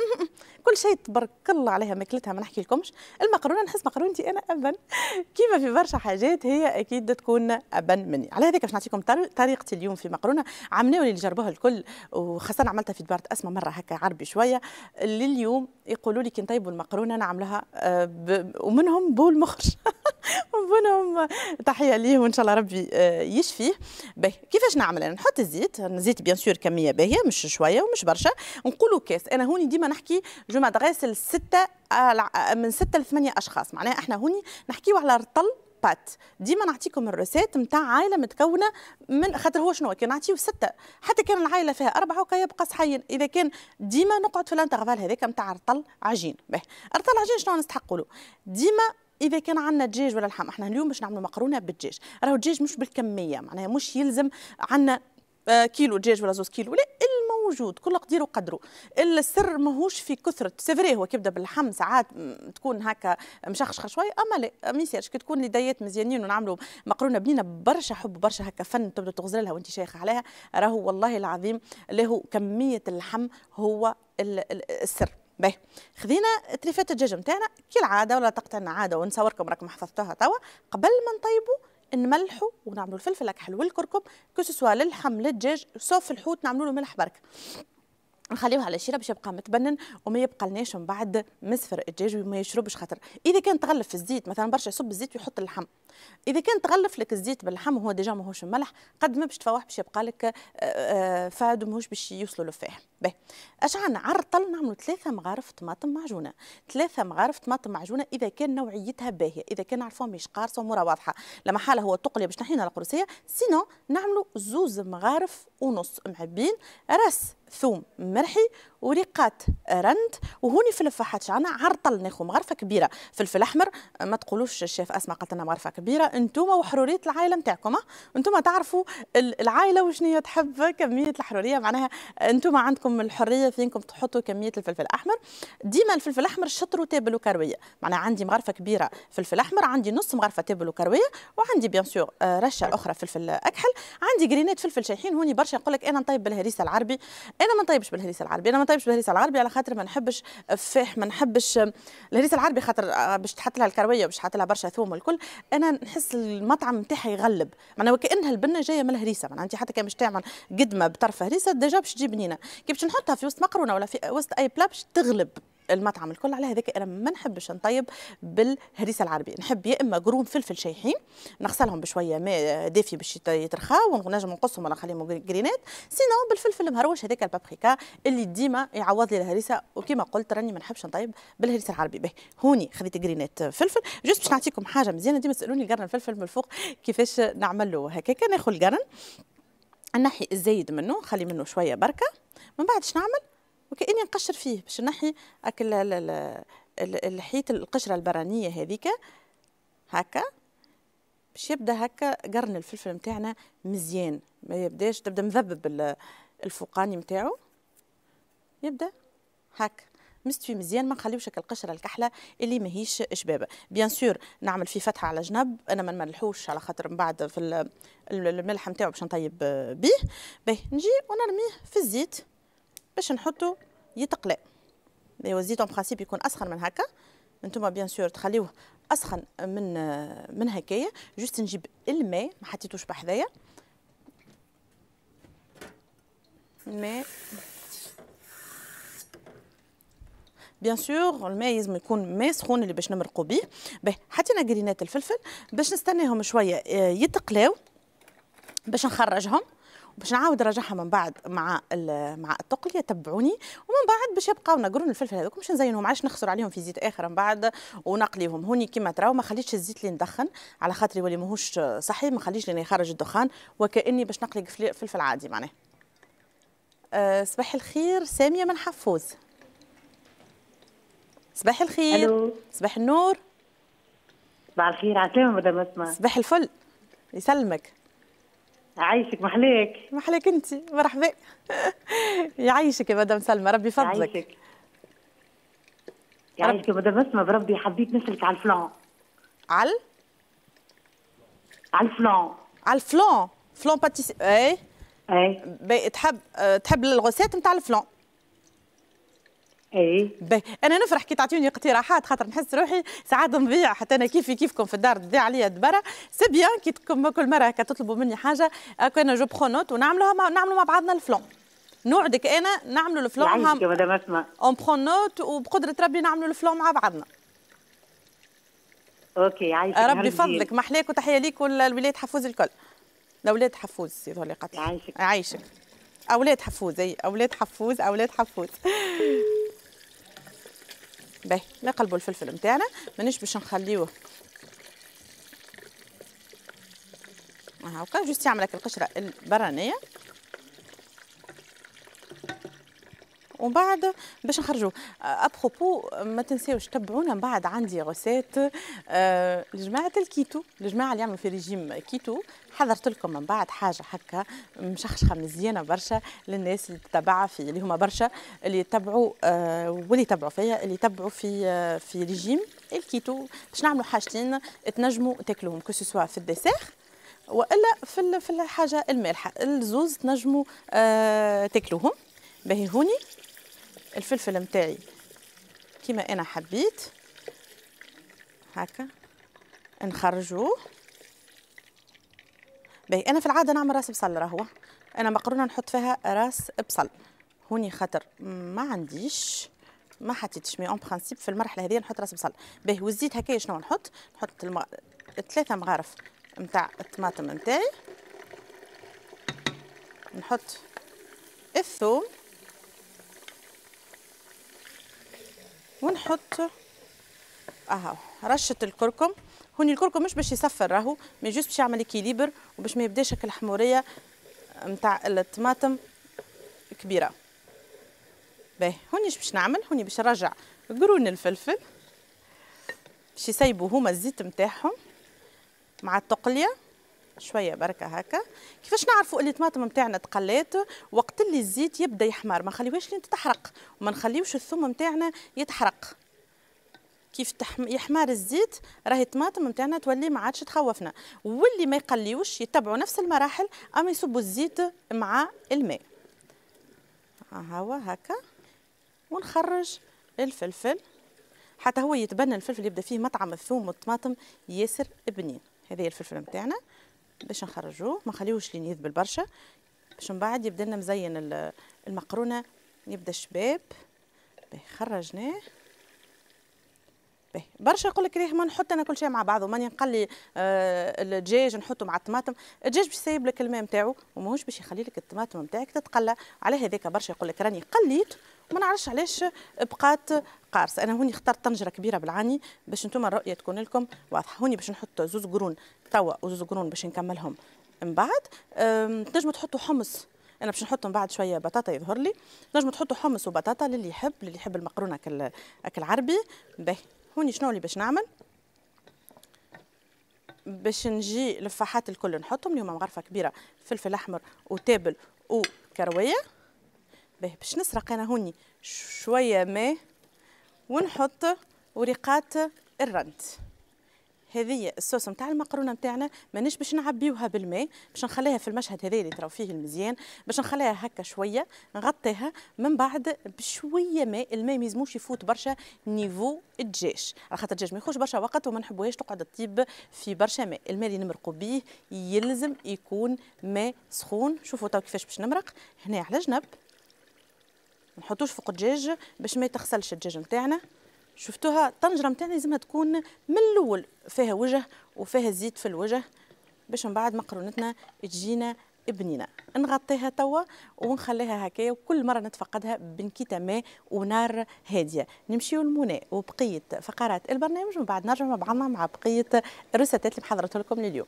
كل شيء تبارك الله عليها ماكلتها، ما نحكي لكمش المقرونه، نحس مقرونتي انا ابن كيما في برشا حاجات هي اكيد تكون ابن مني. على هذاك باش نعطيكم طريقتي اليوم في مقرونة عملناو اللي جربوها الكل، وخاصة عملتها في دبارة اسمى مرة هكا عربي شوية. لليوم يقولوا لي كي نطيبوا المقرونه نعملها ومنهم بو المخرج ومنهم تحية ليه وان شاء الله ربي يشفيه. باهي كيفاش نعمل انا؟ نحط الزيت، الزيت bien sûr كمية باهيه مش شوية ومش برشا، نقولوا كاس. انا هوني ديما نحكي je m'adresse لستة، من 6 ل8 اشخاص، معناها احنا هوني نحكيو على رطل pâtes. ديما نعطيكم ال recette نتاع عائلة متكونه من، خاطر هو شنو كي نعطيو 6 حتى كان العائلة فيها 4 وكا يبقى صحيين. اذا كان ديما نقعد في ال intervalle هذاك نتاع رطل عجين. باهي رطل عجين شنو نستحقوا له؟ ديما اذا كان عندنا دجاج ولا لحم، احنا اليوم باش نعملوا مقرونة بالدجاج، راهو الدجاج مش بالكمية، معناها مش يلزم عندنا كيلو دجاج ولا 2 كيلو، لا الموجود كل قدير وقدره. السر ماهوش في كثرة، c'est vrai هو كيبدا باللحم ساعات تكون هكا مشخشخه شوية، اما لا ما يصيرش كي تكون لديات مزيانين ونعملوا مقرونة بنينه برشا حب برشا هكا فن تبدا تغزل لها وانت شايخه عليها، راهو والله العظيم له كمية اللحم هو السر. باهي خذينا تريفات الدجاج نتاعنا كالعادة ولا تقطعنا عادة، ونصوركم راكم حفظتوها توا. قبل ما نطيبوا نملحوا ونعملوا الفلفل الاكحل والكركم، que ce soit للحم للدجاج، sauf الحوت نعملوا له ملح برك، نخليوه على شيره باش يبقى متبنن وما يبقى لناش من بعد مصفر الدجاج وما يشربش. خاطر اذا كان تغلف في الزيت مثلا برشا يصب الزيت ويحط اللحم، اذا كان تغلف لك الزيت باللحم وهو déjà ماهوش ملح، قد ما باش تفوح باش يبقى لك fade وماهوش باش يوصلوا لفاح. باهي اش عندنا على الرطل؟ نعملوا 3 مغارف طماطم معجونه، 3 مغارف طماطم معجونه اذا كان نوعيتها باهيه، اذا كان نعرفوها مش قارصه ومرة واضحة، لما حاله هو تقليه باش نحينا القروسيه، sinon نعملوا 2.5 مغارف معبين راس ثوم مرحي وريقات رند. وهوني في الفاحات شعنا عرطل ناخذ مغرفه كبيرة فلفل احمر، ما تقولوش الشيف اسماء قالت لنا مغرفه كبيرة، انتوما وحروريه العائلة نتاعكم، انتوما تعرفوا العائلة وشنو تحب كمية الحرورية، معناها انتوما عندكم الحرية فينكم تحطوا كمية الفلفل الاحمر. ديما الفلفل الاحمر شطر وتابل وكرويه، معناها عندي مغرفه كبيرة فلفل احمر، عندي نص مغرفه تابل وكرويه، وعندي bien sûr رشه اخرى فلفل اكحل، عندي جرينات فلفل شايحين. هوني برشا يقول لك انا نطيب بالهريسه العربي، انا ما نطيبش بالهريسه العربي، انا ما نطيبش بالهريسه العربي على خاطر ما نحبش الفاح، ما نحبش الهريسه العربي خاطر باش تحط لها الكروية وباش تحط لها برشا ثوم والكل، انا نحس المطعم نتاعها يغلب، معناها وكانها البنه جاية من الهريسه، معناها انت حتى كان باش تعمل قدمه بطرف هريسه déjà باش تجي بنينه، كي باش نحطها في وسط مقرونة ولا في وسط اي plat باش تغلب المطعم الكل. على هذاك انا ما نحبش نطيب بالهريسه العربية، نحب يا اما قرون فلفل شايحين نغسلهم بشوية ماء دافي باش يترخاو ونجم نقصهم ولا نخليهم جرينات، sinon بالفلفل المهروش هذاك البابريكا اللي ديما يعوض لي الهريسه. وكما قلت راني ما نحبش نطيب بالهريسه العربية. به هوني خذيت جرينات فلفل juste باش نعطيكم حاجة مزيانه، ديما تسالوني القرن الفلفل من الفوق كيفاش نعمل له. هكاك ناخذ القرن نحي الزايد منه، نخلي منه شوية بركة، من بعد اش نعمل؟ وكأني نقشر فيه باش نحي اكل الحيط القشرة البرانيه هذيك هكا، باش يبدا هكا قرن الفلفل نتاعنا مزيان، ما يبداش تبدا مذبب الفوقاني نتاعو، يبدا هكا مستوي مزيان، ما نخليوش هكا القشرة الكحله اللي ماهيش شبابه. bien sûr نعمل فيه فتحه على جنب، انا ما نملحوش على خاطر من بعد في الملح نتاعو باش نطيب بيه. باهي نجي ونرميه في الزيت باش نحطو يتقلى. ايوا الزيت en principe يكون اسخن من هكا، انتوما bien sûr تخليوه اسخن من هكايا. juste نجيب الماء ما حطيتوش بحذايا، الماء bien sûr الماء لازم يكون ماء سخون اللي باش نمرقوا بيه. باهي حطينا جرينات الفلفل باش نستناهم شوية يتقلاو باش نخرجهم، باش نعاود نرجعها من بعد مع مع التقليه. تبعوني. ومن بعد باش يبقاو قرون الفلفل هذوك باش نزينهم، علاش نخسر عليهم في زيت اخر من بعد ونقليهم. هوني كيما تراو ما خليتش الزيت اللي ندخن على خاطر يولي ماهوش صحي، ما خليش لين يخرج الدخان، وكاني باش نقلي فلفل عادي معناه. صباح الخير سامية من حفوز. صباح الخير. صباح النور. صباح الخير، عسلامة مدام اسماء. صباح الفل، يسلمك. عايشك، محلاك. محلاك انت، مرحبا. يعيشك يا مدام سلمى، ربي يفضلك. يعيشك يعيشك يا مدام اسماء، بربي حبيت نسألك على ال flan. على على ال flan. على ال flan، flan pâtissier. اي اي، تحب ال recette نتاع ال flan؟ اي باهي. انا نفرح كي تعطيوني اقتراحات، خاطر نحس روحي ساعات نضيع، حتى انا كيفي كيفكم في الدار تضيع عليا دبره. c'est bien كي كل مرة هكا تطلبوا مني حاجة هكا انا je prends note ونعملوها، نعملوا مع بعضنا ال flan. نوعدك انا نعملوا ال flan. يعيشك يا مدام اسماء. on prend note وبقدره ربي نعملوا ال flan مع بعضنا. OK يعيشك، ربي يفضلك، محلاك، وتحية ليك والولاد حفوز الكل. الاولاد حفوز يظهر لي قتل. يعيشك يعيشك. اولاد حفوز، اي اولاد حفوز، اولاد حفوز. باهي، نقلبوا الفلفل نتاعنا، مانيش باش نخليوه هاكا، juste يعمل لك القشرة البرانيه. ومن بعد باش نخرجوه. à propos ما تنساوش تبعونا من بعد، عندي recette لجماعة الكيتو، الجماعة اللي يعملوا في régime kéto، حضرت لكم من بعد حاجة هكا مشخشخه مزيانه برشا للناس اللي تتبعها في اللي هما برشا اللي يتبعوا واللي يتبعوا فيا، اللي يتبعوا في régime ال kéto. باش نعملوا حاجتين تنجموا تاكلوهم، que ce soit في ال dessert والا في الحاجة المالحه، الزوز تنجموا تاكلوهم. باهي، هوني الفلفل نتاعي كيما انا حبيت هكا نخرجوه. باهي، انا في العادة نعمل راس بصل، راهو انا مقرونة نحط فيها راس بصل. هوني خاطر ما عنديش، ما حطيتش، mais en principe في المرحلة هذه نحط راس بصل. باهي، والزيت هكايا شنو نحط؟ نحط 3 مغارف نتاع الطماطم نتاعي، نحط الثوم، ونحط اهو رشه الكركم. هوني الكركم مش باش يصفر راهو، mais juste باش يعمل équilibre وباش ما يبداش هكا الحموريه نتاع الطماطم كبيرة. باهي، هوني اش باش نعمل؟ هوني باش نرجع قرون الفلفل باش يسيبوا هما الزيت نتاعهم مع التقليه شوية بركة هكا. كيفاش نعرفوا اللي الطماطم نتاعنا تقلات؟ وقت اللي الزيت يبدا يحمر، ما نخليوهاش لين تتحرق، وما نخليوش الثوم نتاعنا يتحرق. كيف يحمر الزيت راهي الطماطم نتاعنا تولي ما عادش تخوفنا. واللي ما يقليوش يتبعوا نفس المراحل، اما يصبوا الزيت مع الماء. ها هو هكا، ونخرج الفلفل حتى هو يتبنى. الفلفل يبدا فيه مطعم الثوم والطماطم ياسر بنين. هذا هي الفلفل نتاعنا باش نخرجوه، ما نخليوش لين يذبل برشا باش من بعد يبدا لنا مزين المقرونه، يبدا شباب. باهي، خرجناه. باهي، برشا يقول لك ريه ما نحط انا كل شيء مع بعضه، ماني نقلي الدجاج نحطه مع الطماطم. الدجاج باش يسيب لك الماء نتاعو وماهوش باش يخلي لك الطماطم نتاعك تتقلى. على هذاك برشا يقول لك راني قليت وما نعرفش علاش بقات قارصه. انا هوني اخترت طنجره كبيرة بالعاني باش انتم الرؤية تكون لكم واضحة. هوني باش نحط زوز قرون توا وزوز قرون باش نكملهم من بعد. تنجموا تحطوا حمص، انا باش نحط من بعد شوية بطاطا يظهر لي. تنجموا تحطوا حمص وبطاطا للي يحب، للي يحب المقرونه اكل عربي. باهي، هوني شنو اللي باش نعمل؟ باش نجي الفاحات الكل نحطهم اللي هما مغرفه كبيرة فلفل احمر وتابل وكرويه. باهي، باش نسرق انا هوني شوية ماء ونحط وريقات الرند. هذه الصوص نتاع المقرونه نتاعنا مانيش باش نعبيوها بالماء، باش نخليها في المشهد هذا اللي تراو فيه المزيان، باش نخليها هكا شوية نغطيها من بعد بشوية ماء. الماء ما يلزموش يفوت برشا niveau الدجاج، على خاطر الدجاج ما ياخذش برشا وقت وما نحبوهاش تقعد تطيب في برشا ماء. الماء اللي نمرقوا بيه يلزم يكون ماء سخون. شوفوا تو كيفاش باش نمرق هنا على جنب، ما نحطوش فوق الدجاج باش ما يتغسلش الدجاج نتاعنا. شفتوها الطنجره نتاعنا لازمها تكون من الاول فيها وجه وفيها زيت في الوجه باش من بعد مقرونتنا تجينا بنينه. نغطيها توا ونخليها هكايا، وكل مرة نتفقدها بنكيته ماء ونار هادية. نمشيو لمنى وبقية فقرات البرنامج، ومن بعد نرجع مع بعضنا مع بقية الروساتات اللي محضرتها لكم لليوم.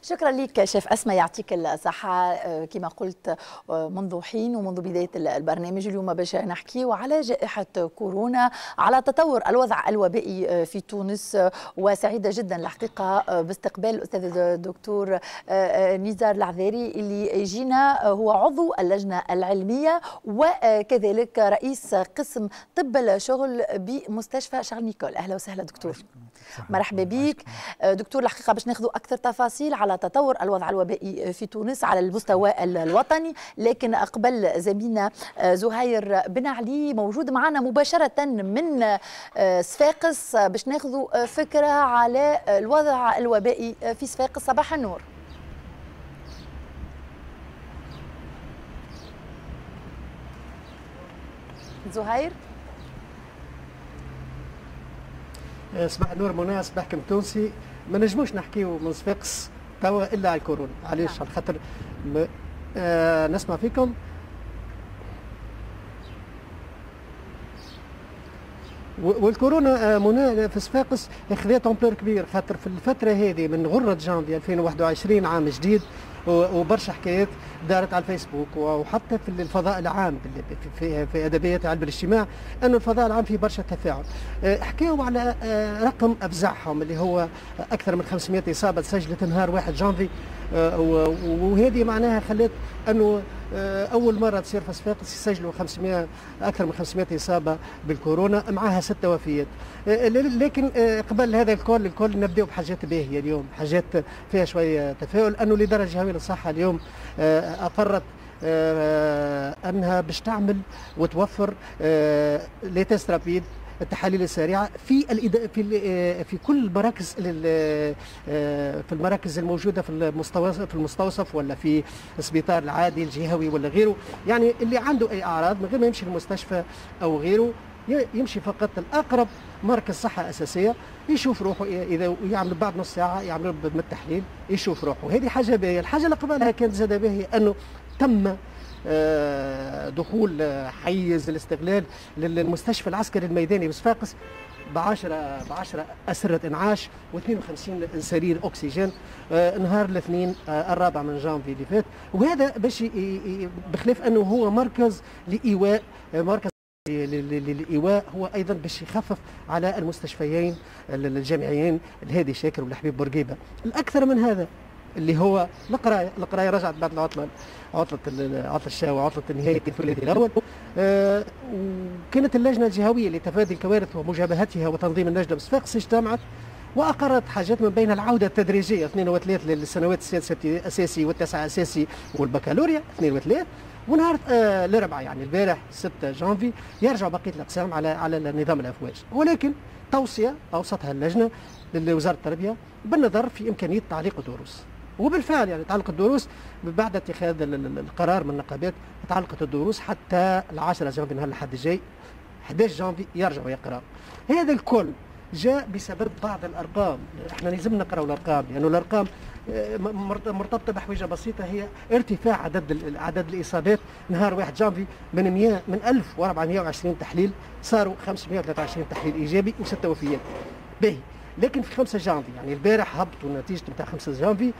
شكرا لك شيف أسماء، يعطيك الصحة. كما قلت منذ حين ومنذ بداية البرنامج، اليوم باش نحكي على جائحة كورونا، على تطور الوضع الوبائي في تونس، وسعيدة جدا الحقيقة باستقبال الأستاذ الدكتور نزار العذاري اللي يجينا، هو عضو اللجنة العلمية وكذلك رئيس قسم طب الشغل بمستشفى شارل نيكول. أهلا وسهلا دكتور، مرحبا بك دكتور. الحقيقة باش ناخذ أكثر تفاصيل على تطور الوضع الوبائي في تونس على المستوى الوطني، لكن قبل زميلنا زهير بن علي موجود معنا مباشرة من صفاقس باش ناخذ فكرة على الوضع الوبائي في صفاقس. صباح النور. زهير. صباح النور منى، صباحكم تونسي. ما نجموش نحكيو من صفاقس توا الا على الكورونا، علاش؟ على خاطر نسمع فيكم والكورونا منى في صفاقس خذات ampleur كبير، خاطر في الفترة هذه من غره جانفي 2021 عام جديد وبرشا حكايات دارت على الفيسبوك وحتى في الفضاء العام في ادبيات علم الاجتماع، انه الفضاء العام فيه برشا تفاعل. حكاوا على رقم افزعهم اللي هو اكثر من 500 اصابه تسجلت نهار 1 جانفي، وهذه معناها خلت انه اول مرة تصير في صفاقس يسجلوا 500 اكثر من 500 اصابه بالكورونا، معها 6 وفيات. لكن قبل هذا الكل نبداو بحاجات باهيه اليوم، حاجات فيها شوية تفاؤل، انه الادارة الجهوية للصحة اليوم اقرت انها باش تعمل وتوفر les tests rapides، التحاليل السريعة في في في كل المراكز، في المراكز الموجودة في المستوصف ولا في السبيطار العادي الجهوي ولا غيره. يعني اللي عنده اي اعراض من غير ما يمشي للمستشفى او غيره، يمشي فقط الاقرب مركز صحة اساسية يشوف روحه، اذا يعمل بعد نص ساعة يعمل بالتحليل يشوف روحه. هذه حاجة باهيه. الحاجة اللي قبلها كانت زاده باهيه انه تم دخول حيز الاستغلال للمستشفى العسكري الميداني بصفاقس ب 10 أسرة إنعاش و52 سرير أكسجين نهار الاثنين 4 من جانفي اللي فات. وهذا باش بخلاف أنه هو مركز لإيواء، مركز للإيواء، هو أيضا باش يخفف على المستشفيين الجامعيين الهادي شاكر والحبيب بورقيبة. الأكثر من هذا اللي هو القراية، القراية رجعت بعد العطلة، عطله الشاوي، عطله نهاية الثلاثي الاول. وكانت اللجنة الجهوية لتفادي الكوارث ومجابهتها وتنظيم النجده بصفاقس اجتمعت واقرت حاجات من بين العودة التدريجيه 2 و3 للسنوات السادسة اساسي والتاسعه اساسي والبكالوريا 2 و3، ونهار الاربعاء يعني البارح 6 جانفي يرجع بقية الاقسام على نظام الافواج. ولكن توصية اوصتها اللجنة لوزارة التربية بالنظر في امكانية تعليق الدروس، وبالفعل يعني تعلق الدروس بعد اتخاذ القرار من النقابات، تعلقت الدروس حتى 10 جانفي نهار الأحد الجاي 11 جانفي يرجعوا يقراوا. هذا الكل جاء بسبب بعض الارقام، احنا لازم نقراوا الارقام لانه الارقام مرتبطة بحويجه بسيطة، هي ارتفاع عدد الاصابات نهار 1 جانفي من 1420 تحليل صاروا 523 تحليل ايجابي و6 وفيات. باهي، لكن في 5 جانفي يعني البارح هبطوا النتيجة نتاع 5 جانفي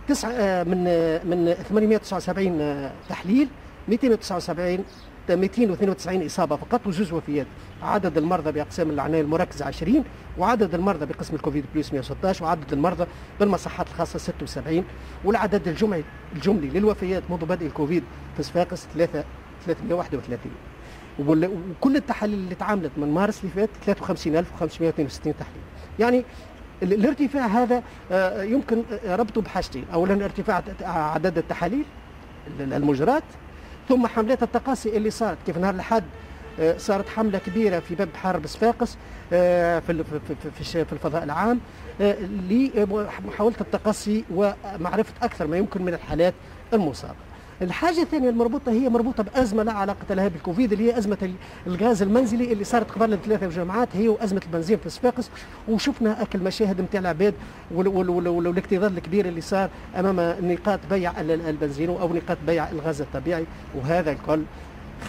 9 من 879 تحليل 292 اصابه فقط وجوج وفيات. عدد المرضى باقسام العناية المركزة 20، وعدد المرضى بقسم الكوفيد plus 116، وعدد المرضى بالمصحات الخاصة 76، والعدد الجملي للوفيات منذ بدء الكوفيد في صفاقس 331. وكل التحاليل اللي تعاملت من مارس اللي فات 53562 تحليل. يعني الارتفاع هذا يمكن ربطه بحاجتين، اولا ارتفاع عدد التحاليل المجرات، ثم حملات التقاصي اللي صارت كيف نهار الأحد صارت حملة كبيرة في باب حرب صفاقس في في الفضاء العام لمحاولة التقصي ومعرفة أكثر ما يمكن من الحالات المصابة. الحاجة الثانية المربوطه هي مربوطة بازمه لا علاقة لها بالكوفيد، اللي هي ازمة الغاز المنزلي اللي صارت قبل 3 جمعات، هي وازمة البنزين في صفاقس، وشفنا اكل المشاهد نتاع العباد والاكتظاظ الكبير اللي صار امام نقاط بيع البنزين او نقاط بيع الغاز الطبيعي. وهذا الكل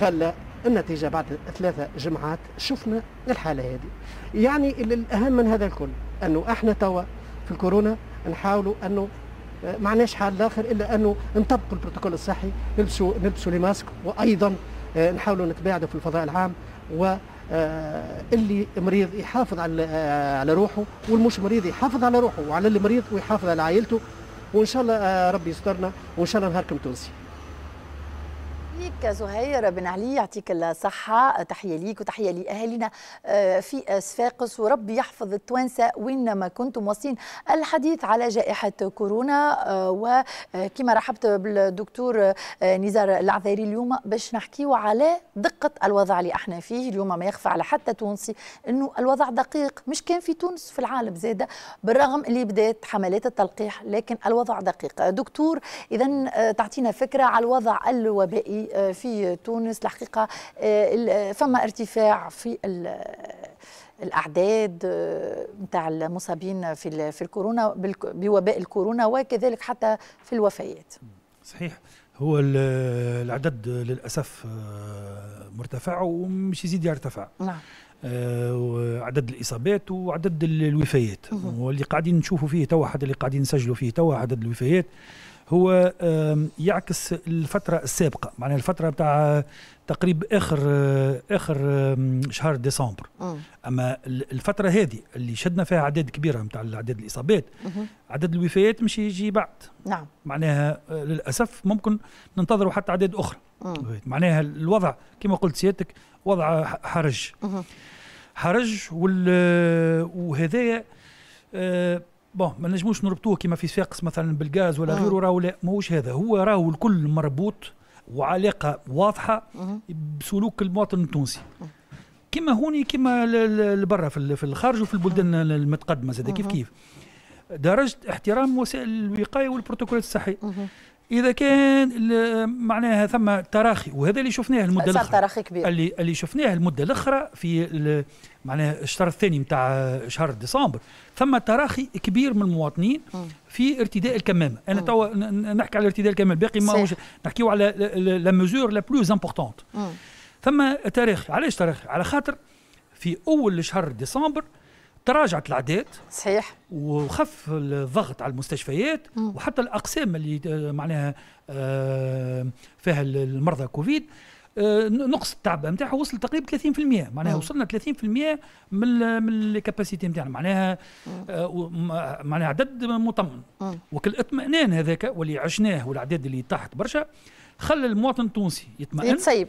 خلى النتيجة بعد 3 جمعات شفنا الحالة هذه. يعني الاهم من هذا الكل انه احنا توا في الكورونا نحاولوا انه ما عندناش حل اخر الا انه نطبقوا البروتوكول الصحي، نلبسوا les masques، وايضا نحاولوا نتباعدوا في الفضاء العام، و اللي مريض يحافظ على روحه، والمش مريض يحافظ على روحه وعلى اللي مريض ويحافظ على عائلته، وان شاء الله ربي يسترنا، وان شاء الله نهاركم تونسي. ليك زهير بن علي، يعطيك الصحة، تحية ليك وتحية لأهالينا في صفاقس، وربي يحفظ التوانسة وين ما كنتم. واصلين الحديث على جائحة كورونا، وكما رحبت بالدكتور نزار العذاري اليوم باش نحكيو على دقة الوضع اللي احنا فيه اليوم. ما يخفى على حتى تونسي انه الوضع دقيق، مش كان في تونس، في العالم زادة، بالرغم اللي بدات حملات التلقيح لكن الوضع دقيق. دكتور، إذا تعطينا فكرة على الوضع الوبائي في تونس. الحقيقة فما ارتفاع في الأعداد نتاع المصابين في الكورونا، بوباء الكورونا، وكذلك حتى في الوفيات. صحيح، هو العدد للأسف مرتفع ومش يزيد يرتفع. نعم. عدد الإصابات وعدد الوفيات، واللي قاعدين نشوفوا فيه توا، حتى اللي قاعدين نسجلوا فيه توا، عدد الوفيات هو يعكس الفترة السابقة، معناها الفترة بتاع تقريبا آخر شهر ديسمبر. أما الفترة هذه اللي شدنا فيها أعداد كبيرة نتاع عدد الإصابات، عدد الوفيات مش يجي بعد. نعم. معناها للأسف ممكن ننتظروا حتى أعداد أخرى. معناها الوضع كما قلت سيادتك وضع حرج. حرج، وهذايا bon ما نجموش نربطوه كما في صفاقس مثلا بالغاز ولا غيره، راهو لا، ماهوش هذا، هو راهو الكل مربوط وعلاقة واضحة بسلوك المواطن التونسي. كما هوني كما لبرا في الخارج وفي البلدان المتقدمة زاد كيف كيف درجه احترام وسائل الوقاية والبروتوكولات الصحية. اذا كان معناها ثم تراخي، وهذا اللي شفناه المدة الاخرى، تراخي كبير اللي شفناه المدة الاخرى في معناها الشهر الثاني نتاع شهر ديسمبر، ثم تراخي كبير من المواطنين في ارتداء الكمامة. انا توا نحكي على ارتداء الكمامة، الباقي ما نحكيو على la mesure la plus importante. ثم تراخي، علاش تراخي؟ على خاطر في اول شهر ديسمبر تراجعت الاعداد، صحيح، وخف الضغط على المستشفيات، وحتى الاقسام اللي معناها فيها المرضى كوفيد نقص التعبئه نتاعها وصل تقريبا 30%، معناها وصلنا 30% من ال capacité نتاعنا، معناها معناها عدد مطمئن. وكل الاطمئنان هذاك واللي عشناه والاعداد اللي طاحت برشا خلى المواطن التونسي يطمئن، يتسيب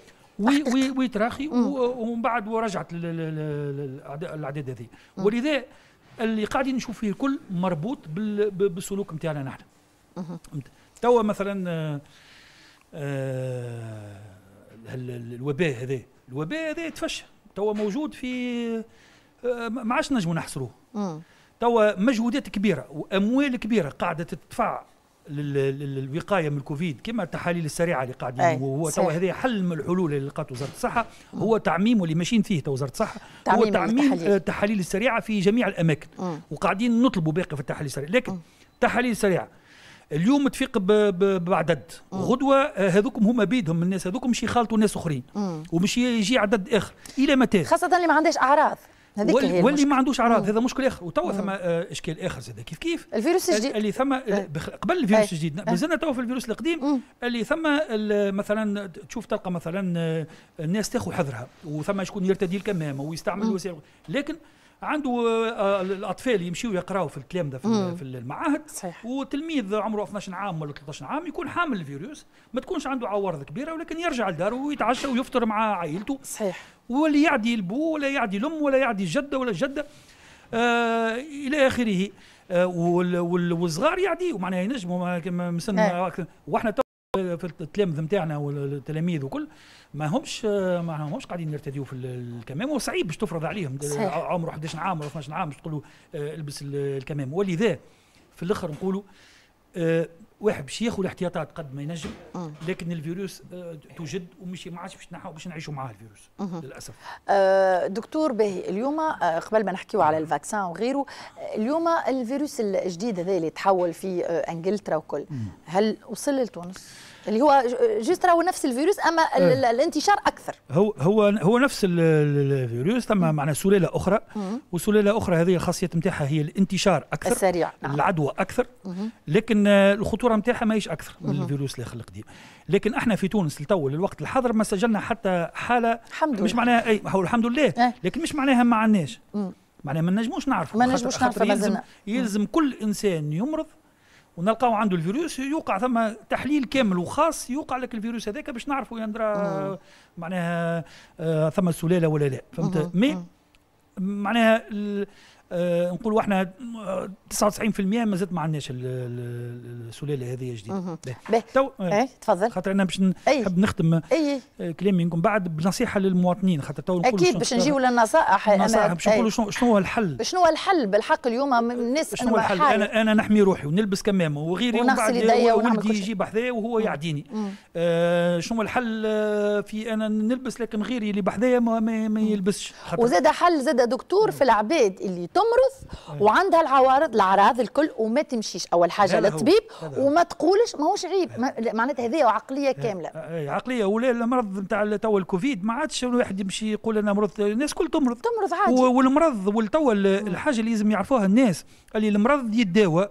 ويتراخي، ومن بعد ورجعت الاعداد هذه. ولذا اللي قاعدين نشوف فيه الكل مربوط بالسلوك نتاعنا نحن. توا مثلا الوباء هذا، الوباء هذا تفشى توا موجود في ما عادش نجموا نحصروه. توا مجهودات كبيرة واموال كبيرة قاعدة تدفع للوقايه من الكوفيد، كما التحاليل السريعة اللي قاعدين، وهو توا هذا حل من الحلول اللي لقاته وزارة الصحة، هو تعميم واللي ماشيين فيه تو وزارة الصحة، هو تعميم التحاليل السريعة في جميع الاماكن، وقاعدين نطلبوا باقي في التحاليل السريعة. لكن التحاليل السريعة اليوم تفيق بعدد، غدوه هذوكم هما بيدهم الناس هذوكم مش يخالطوا ناس اخرين، ومش يجي عدد اخر الى متى، خاصة اللي ما عندهاش اعراض. واللي ما عندوش اعراض هذا مشكل اخر. وتوا ثم اشكال اخر زاد كيف كيف الفيروس الجديد اللي ثم قبل الفيروس الجديد، مازلنا توا في الفيروس القديم اللي ثم مثلا تشوف تلقى مثلا الناس تاخذ حذرها، وثم شكون يرتدي الكمامة ويستعمل وسائل، لكن عنده الاطفال يمشيوا يقراوا في التلامذه في المعاهد. صحيح. وتلميذ عمره 12 عام ولا 13 عام يكون حامل الفيروس، ما تكونش عنده عوارض كبيرة، ولكن يرجع لداره ويتعشى ويفطر مع عائلته. صحيح. واللي يعدي البو ولا يعدي الام ولا يعدي الجدة ولا الجدة الى اخره، والصغار يعديوا معناها ينجموا من سن. واحنا في التلامذه نتاعنا والتلاميذ وكل ما همش قاعدين يرتديوا في الكمام، وصعيب باش تفرض عليهم. صحيح. عمره 11 عام ولا 12 عام باش تقول له البس الكمام. ولذا في الاخر نقولوا واحد باش ياخذ الاحتياطات قد ما ينجم، لكن الفيروس توجد ومش ما عادش باش نعيشوا معاه الفيروس للاسف. دكتور باهي، اليوم قبل ما نحكيو على ال vaccin وغيره، اليوم الفيروس الجديد هذا اللي تحول في انجلترا وكل، هل وصل لتونس؟ اللي هو juste راهو نفس الفيروس اما الانتشار اكثر. هو هو هو نفس الفيروس، ثم معنا سلالة اخرى، وسلاله اخرى هذه الخاصية نتاعها هي الانتشار اكثر السريع، نعم. العدوى اكثر، لكن الخطورة نتاعها ماهيش اكثر من الفيروس الاخر القديم. لكن احنا في تونس لتو للوقت الحاضر ما سجلنا حتى حاله، الحمد لله. مش معناها اي الحمد لله، لكن مش معناها ما عندناش، معناها ما نجموش نعرفوا، ما نجموش نعرفوا. يلزم كل انسان يمرض ونلقاو عنده الفيروس يوقع ثم تحليل كامل وخاص يوقع لك الفيروس هذاك باش نعرفوا يندرى معناها ثم سلالة ولا لا، فهمت؟ mais معناها نقولوا احنا 99% مازالت ما عندناش السلالة هذه جديدة. تو تفضل، خاطر انا باش نحب نختم كلامي منكم بعد بنصيحة للمواطنين، خاطر تو نقولوا اكيد باش نجيو للنصائح، النصائح باش نقولوا شنو هو الحل، شنو هو الحل بالحق اليوم الناس. شنو هو الحل؟ انا نحمي روحي ونلبس كمامه وغيري، ونغسل يدي ولدي يجي بحذايا وهو يعديني. شنو هو الحل في انا نلبس لكن غيري اللي بحذايا ما يلبسش. وزاد حل زاد دكتور في العباد اللي تمرض وعندها العوارض الاعراض الكل وما تمشيش اول حاجة للطبيب وما تقولش، ماهوش عيب، معناتها هذه عقلية كاملة. عقلية. ولا المرض نتاع توا الكوفيد ما عادش الواحد يمشي يقول انا مرضت، الناس كل تمرض عادي. والمرض والتوا الحاجة اللي لازم يعرفوها الناس اللي المرض يتداوى،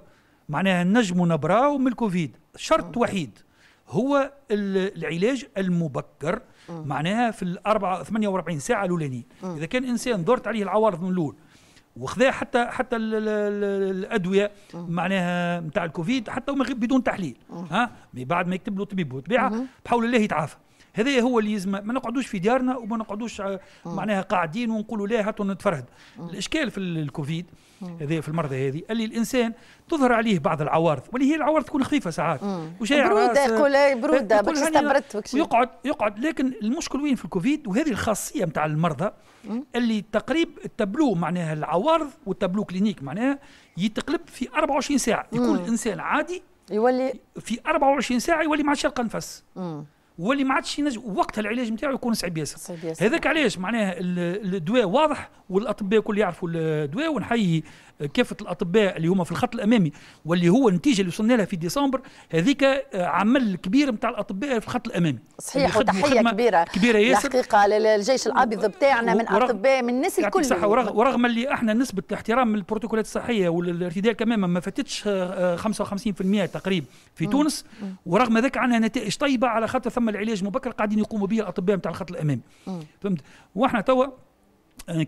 معناها نجموا نبراو من الكوفيد، شرط وحيد هو العلاج المبكر، معناها في 48 ساعة الاولانيين. اذا كان انسان ظهرت عليه العوارض من الاول وخذا حتى الادوية معناها نتاع الكوفيد حتى بدون تحليل، ها بعد ما يكتب له طبيب وطبيعه بحول الله يتعافى. هذا هو اللي يلزم، ما نقعدوش في ديارنا وما نقعدوش معناها قاعدين ونقولوا لا هاتوا نتفرهد. الاشكال في الكوفيد هذا في المرضى هذه اللي الانسان تظهر عليه بعض العوارض، واللي هي العوارض تكون خفيفة ساعات، برودة، يقول برودة باش استبردت يقعد. لكن المشكل وين في الكوفيد، وهذه الخاصية نتاع المرضى اللي تقريب التبلو معناها العوارض وال tableau clinique معناها يتقلب في 24 ساعة. يكون الانسان عادي يولي في 24 ساعة يولي ما عادش يلقى نفس، واللي ما عادش ينجم، وقتها العلاج نتاعو يكون صعيب ياسر. هذاك علاش معناها الدواء واضح والاطباء الكل يعرفوا الدواء، ونحيي كافة الاطباء اللي هما في الخط الامامي واللي هو النتيجة اللي وصلنا لها في ديسمبر هذيك عمل كبير نتاع الاطباء في الخط الامامي. صحيح، وتحية كبيرة كبيرة ياسر الحقيقة للجيش الابيض بتاعنا من اطباء من الناس الكل. صح، ورغم اللي احنا نسبه احترام البروتوكولات الصحية والارتداء كمامه ما فاتتش 55% تقريبا في تونس، ورغم ذلك عندنا نتائج طيبة على خاطر ثم العلاج المبكر قاعدين يقوموا به الاطباء نتاع الخط الامامي. فهمت؟ واحنا توا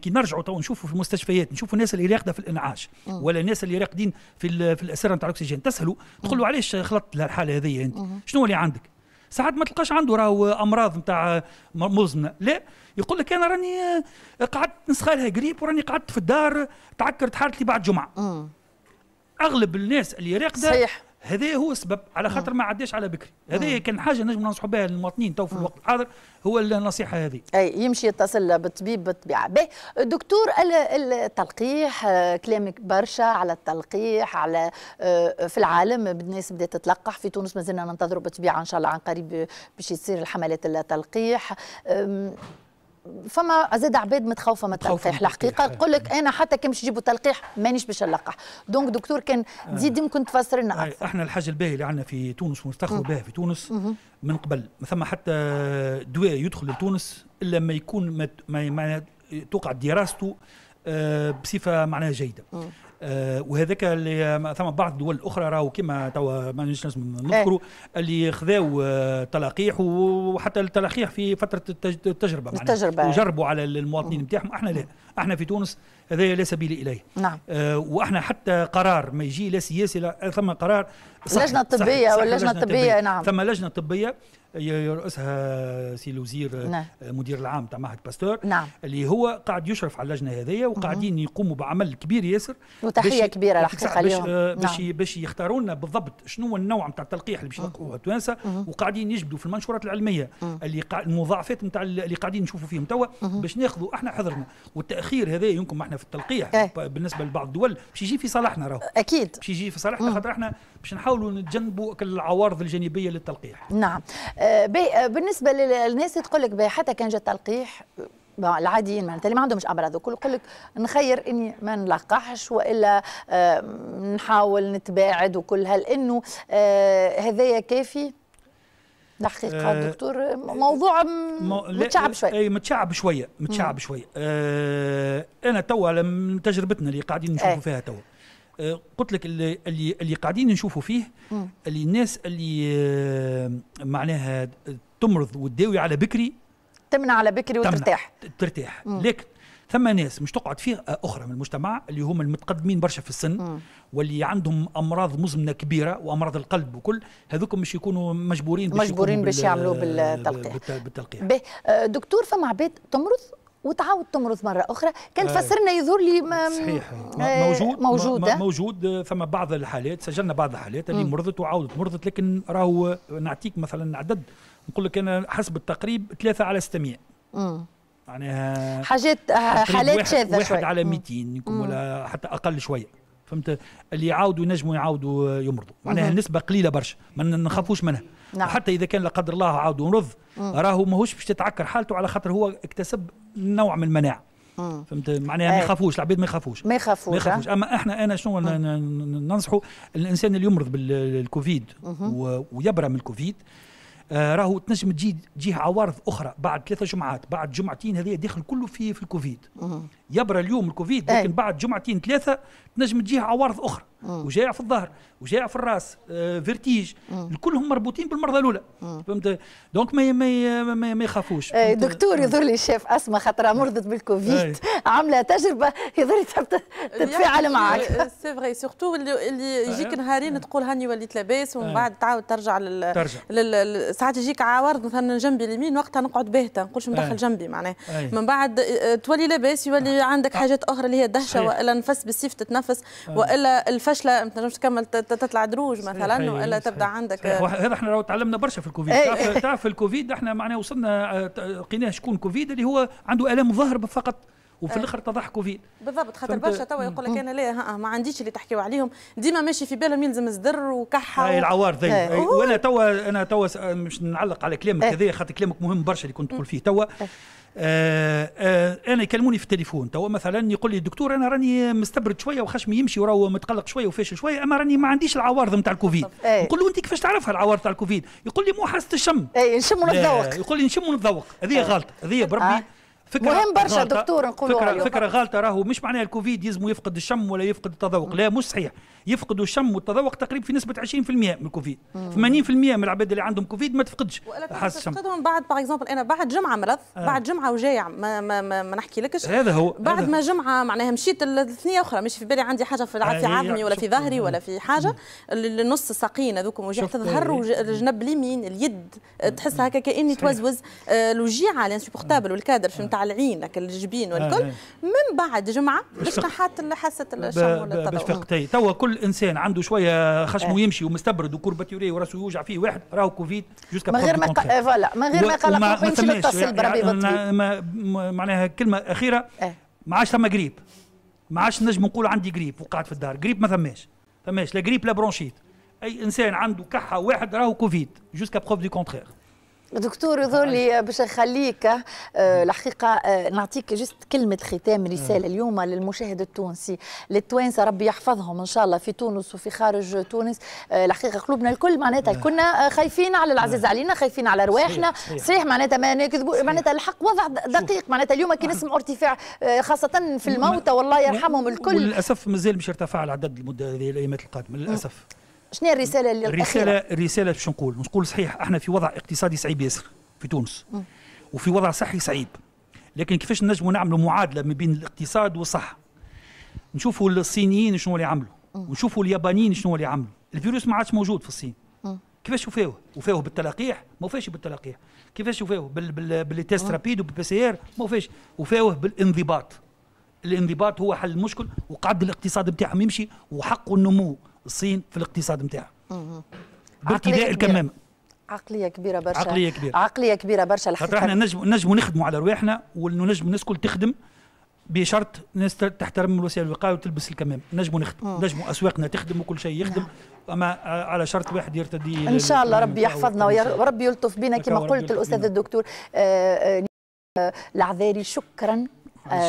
كي نرجعوا توا نشوفوا في المستشفيات، نشوفوا الناس اللي راقده في الانعاش ولا الناس اللي راقدين في الاسرة نتاع الاكسجين، تسالوا تقول له علاش خلطت الحالة هذه انت؟ شنو اللي عندك؟ ساعات ما تلقاش عنده راهو امراض نتاع مزمنة، لا يقول لك انا راني قعدت نسخالها قريب وراني قعدت في الدار تعكرت حالتي بعد جمعه. اغلب الناس اللي راقده صحيح هذا هو السبب، على خاطر ما عداش على بكري. هذه كان حاجة نجم ننصحوا بها للمواطنين تو في الوقت الحاضر، هو النصيحة هذه. اي يمشي يتصل بالطبيب بالطبيعة. باهي دكتور، التلقيح كلامك برشا على التلقيح، على في العالم الناس بدات تتلقح، في تونس مازلنا ننتظروا بالطبيعة ان شاء الله عن قريب باش يصير الحملات التلقيح. فما زاد عباد متخوفه من التلقيح الحقيقة، تقول لك انا حتى كي باش يجيبوا تلقيح مانيش باش نلقح. donc دكتور كان تزيد يمكن تفسر لنا اكثر. احنا الحاجة الباهيه اللي عندنا في تونس ونفتخروا بها في تونس من قبل، ما ثم حتى دواء يدخل لتونس الا ما يكون ما توقع دراسته بصفة معناها جيدة. وهذاك اللي ثم بعض الدول الاخرى راهو كما توا ما نجمش نذكروا اللي خذاو تلقيح، وحتى التلقيح في فترة التجربة معناها وجربوا على المواطنين نتاعهم. احنا لا، احنا في تونس هذا لا سبيل اليه. نعم. واحنا حتى قرار ما يجي لا سياسي لا، ثم قرار اللجنة الطبية واللجنة الطبية. نعم، ثم لجنة طبية يرأسها سي الوزير. نعم. مدير العام تاع معهد باستور. نعم. اللي هو قاعد يشرف على اللجنة هذيا، وقاعدين يقوموا بعمل كبير ياسر، وتحية كبيرة الحقيقة اليوم باش نعم. باش يختاروا لنا بالضبط شنو هو النوع نتاع التلقيح اللي باش يلقوه التوانسة، وقاعدين يجبدوا في المنشورات العلمية اللي المضاعفات نتاع اللي قاعدين نشوفوا فيهم توا باش ناخذوا احنا حذرنا. والتاخير التاخير هذا يمكن احنا في التلقيح بالنسبة لبعض الدول باش يجي في صالحنا، راهو اكيد باش يجي في صالحنا، خاطر احنا باش نحاولوا نتجنبوا العوارض الجانبية للتلقيح. نعم. بالنسبة للناس تقول لك حتى كان جا التلقيح العاديين معناتها اللي ما عندهمش امراض وكل، يقول لك نخير اني ما نلقحش والا نحاول نتباعد وكل، هل انه هذايا كافي؟ الحقيقة دكتور موضوع متشعب شوية. اي متشعب شوية، متشعب شوية. انا توا من تجربتنا اللي قاعدين نشوفوا فيها توا، قلت لك اللي قاعدين نشوفوا فيه اللي الناس اللي معناها تمرض وتداوي على بكري، تمنع على بكري وترتاح، ترتاح. لكن ثم ناس مش تقعد فئة أخرى من المجتمع اللي هم المتقدمين برشا في السن واللي عندهم أمراض مزمنة كبيرة وأمراض القلب وكل، هذوك مش يكونوا مجبورين باش يعملوا بالتلقيح. دكتور، فما عباد تمرض وتعاود تمرض مرة أخرى، كان تفسرنا يظهر لي صحيح موجود موجود. ثم بعض الحالات، سجلنا بعض الحالات اللي مرضت وعاودت مرضت، لكن راهو نعطيك مثلا عدد، نقول لك أنا حسب التقريب 3 على 600. معناها حاجات حالات شاذة شوية، 1 على 200 يمكن ولا حتى أقل شوية، فهمت؟ اللي يعاودوا ينجموا يعاودوا يمرضوا، معناها النسبة قليلة برشا، ما نخافوش منها. نعم. حتى إذا كان لا قدر الله عاود مرض، راهو ماهوش باش تتعكر حالته، على خاطر هو اكتسب نوع من المناعة. فهمت؟ معناها ما يخافوش العباد، ما يخافوش ما يخافوش. اما احنا انا شنو ننصحوا الانسان اللي يمرض بالكوفيد ويبرى من الكوفيد، راهو تنجم تجيه عوارض اخرى بعد 3 جمعات، بعد جمعتين، هذه داخل كله في الكوفيد. يبرى اليوم الكوفيد، لكن بعد جمعتين 3 تنجم تجيه عوارض اخرى، وجاع في الظهر، وجاع في الراس، vertige، كلهم مربوطين بالمرضى الاولى. فهمت؟ donc ما يخافوش. دكتور، يظهر لي الشيف اسماء خاطر مرضت بالكوفيد، عامله تجربه، يظهر لي تحب تتفاعل معك. c'est vrai، surtout اللي يجيك نهارين تقول هاني وليت لاباس، ومن بعد تعاود ترجع ساعات يجيك عوارض مثلا جنبي اليمين، وقتها نقعد باهته نقولش ندخل جنبي معناها، من بعد تولي لاباس، يولي عندك حاجات اخرى اللي هي الدهشة، والا نفس بالسيف تتنفس، والا الفشله ما تنجمش تكمل تطلع دروج مثلا، والا تبدا عندك. هذا احنا تعلمنا برشا في الكوفيد. تعرف في الكوفيد احنا معناها وصلنا لقيناه شكون كوفيد اللي هو عنده الام ظهر فقط، وفي الاخر تضح كوفيد. بالضبط، خاطر برشا توا يقول لك انا لا ما عنديش اللي تحكيو عليهم، ديما ماشي في بالهم يلزم صدر وكحه هاي العوارض. وانا توا انا توا مش نعلق على كلامك هذا، خاطر كلامك مهم برشا اللي كنت تقول فيه توا. انا يكلموني في التليفون توا مثلا، يقول لي الدكتور انا راني مستبرد شوية وخشمي يمشي وراهو متقلق شوية وفاشل شوية، اما راني ما عنديش العوارض نتاع الكوفيد. نقول له انت كيفاش تعرفها العوارض نتاع الكوفيد؟ يقول لي مو حاسه الشم. اي نشم ونتذوق. يقول لي نشم ونتذوق، هذه غلط، هذه بربي فكرة مهم برشا دكتور نقولوا فكرة غالطة. راهو مش معناها الكوفيد يلزموا يفقد الشم ولا يفقد التذوق، لا مش صحيح. يفقدوا الشم والتذوق تقريبا في نسبة 20% من الكوفيد. 80% من العباد اللي عندهم كوفيد ما تفقدش حاسة الشم. تفقدهم بعد par exemple انا بعد جمعة مرض، بعد جمعة وجايع ما, ما, ما, ما نحكي لكش. هذا هو بعد ما جمعة معناها مشيت الثنية أخرى، مش في بالي عندي حاجة في عظمي ولا في ظهري ولا في حاجة، النص الساقين هذوك وجيعة الظهر والجنب اليمين اليد تحسها هكا كأني توزوز، الوجيعة l'insupportable والكادر في نتاع العين لك الجبين والكل. من بعد جمعة باش نحات حاسة الشم ولا التذوق. توا كل انسان عنده شوية خشمه يمشي ومستبرد و courbaturé وراسه يوجع فيه واحد، راهو كوفيد jusqu'à من غير ما voilà، من غير ما يقلق يمشي يتصل بربي بالطبيب. معناها كلمة اخيرة، ما عادش ثم قريب، ما عادش نجم نقول عندي قريب وقعد في الدار، قريب ما ثماش لا قريب لا bronchite. اي انسان عنده كحه واحد راهو كوفيد jusqu'à preuve du contraire. دكتور يظهر لي باش نخليك الحقيقة نعطيك juste كلمة ختام، رسالة اليوم للمشاهد التونسي، للتوانسه ربي يحفظهم ان شاء الله في تونس وفي خارج تونس. الحقيقة قلوبنا الكل معناتها كنا خايفين على العزيز علينا، خايفين على رواحنا، صحيح معناتها ما نكذبوا، معناتها الحق وضع دقيق، معناتها اليوم كي نسمعوا ارتفاع خاصة في الموتى والله يرحمهم الكل. وللاسف مازال مش ارتفع العدد المدة هذه الايامات القادمة للاسف. شنو هي الرسالة اللي الرسالة باش نقول صحيح احنا في وضع اقتصادي صعيب ياسر في تونس وفي وضع صحي صعيب، لكن كيفاش نجموا نعملوا معادلة ما بين الاقتصاد والصحة؟ نشوفوا الصينيين شنو اللي عملوا ونشوفوا اليابانيين شنو اللي عملوا. الفيروس ما عادش موجود في الصين، كيفاش وفاوه؟ وفاوه بالتلقيح؟ ما وفاش بالتلقيح. كيفاش وفاوه؟ بال tests rapides وبال PCR؟ ما وفاش. وفاوه بالانضباط. الانضباط هو حل المشكل، وقعد الاقتصاد نتاعهم يمشي وحقوا النمو الصين في الاقتصاد نتاعها بارتداء الكمامة. عقلية كبيرة برشا، عقلية كبيرة، عقلية كبيرة برشا الحقيقة. خاطر احنا نجموا نخدموا على رواحنا ونجموا الناس الكل تخدم بشرط الناس تحترم الوسائل الوقاية وتلبس الكمام. نجموا نخدم، نجموا اسواقنا تخدم وكل شيء يخدم. اما على شرط واحد يرتدي. ان شاء الله ربي يحفظنا وربي يلطف بنا كما قلت الاستاذ الدكتور العذاري. شكرا،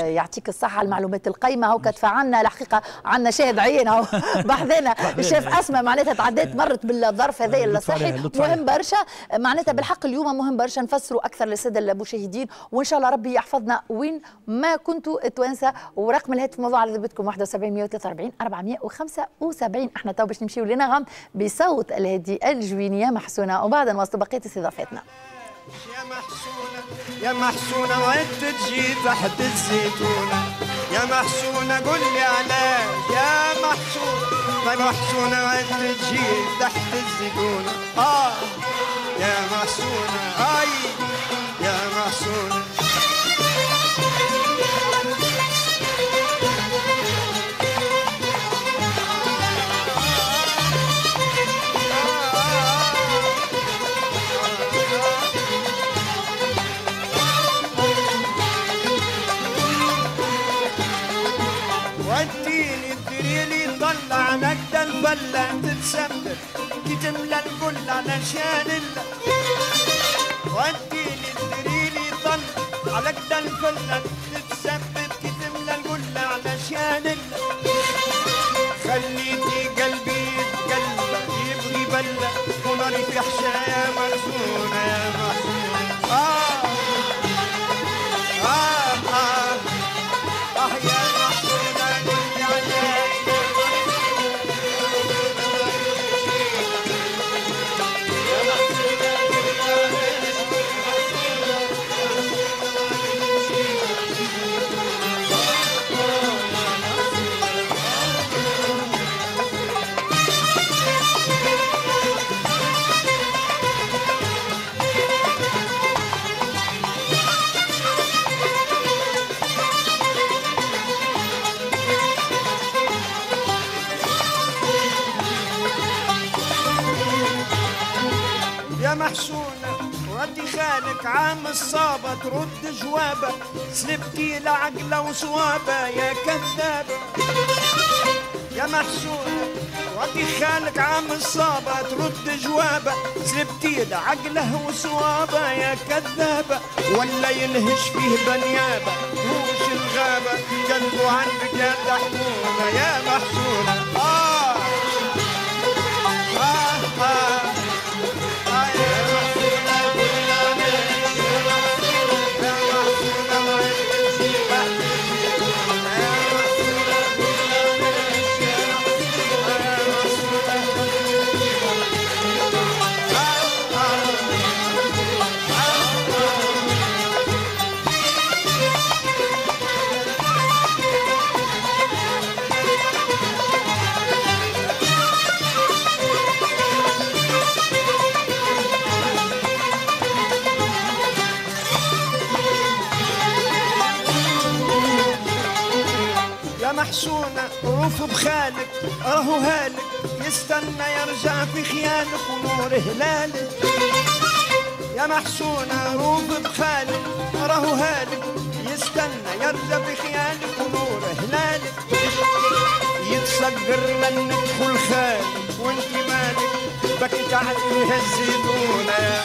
يعطيك الصحة على المعلومات القيمة. هو تفاعلنا الحقيقة، عندنا شاهد عين هو بحذانا الشيف أسماء، معناتها تعدات مرت بالظرف هذا الصحي مهم برشا، معناتها بالحق اليوم مهم برشا نفسروا أكثر للسادة المشاهدين، وإن شاء الله ربي يحفظنا وين ما كنتوا التوانسة. ورقم الهاتف موضوع على ذبتكم 71 143 475. احنا تو باش نمشيو لنغم بصوت الهادي الجوينية محسونة، وبعد نواصلوا بقية استضافتنا. يا محسونة يا محسونة وانت تجي تحت الزيتونة، يا محسونة قول لي علاش يا محسونة، يا محسونة وانت تجي تحت الزيتونة، يا محسونة، اي يا محسونة. نقدر الفلة تتسبب كي تملى الكل علشان الله، وديني الدريلي طل على قد الفلة تتسبب كي تملى الكل علشان الله، خليتي قلبي يتقلب يبغي بلة وناري في حشا يا محسونة يا محسونة. آه آه آه آه يا محسونة قولي عليك. محسونة ردي خالك عام الصابة ترد جوابة، سلبتي لعقلة وصوابة يا كذابة. يا محسونة ردي خالك عام الصابة ترد جوابة، سلبتي لعقله وصوابة يا كذابة، ولا ينهش فيه بنيابة وش الغابة كذبوا عندك يا دحمونة يا محسونة. آه آه آه محسونة روف بخالك راهو هالك يستنى يرجع في خيالك ونور هلالك. يا محسونة روف بخالك راهو هالك يستنى يرجع في خيالك ونور هلالك، يتسقر لن ندخل خالك وانت مالك بكيت عليه الزيتونة.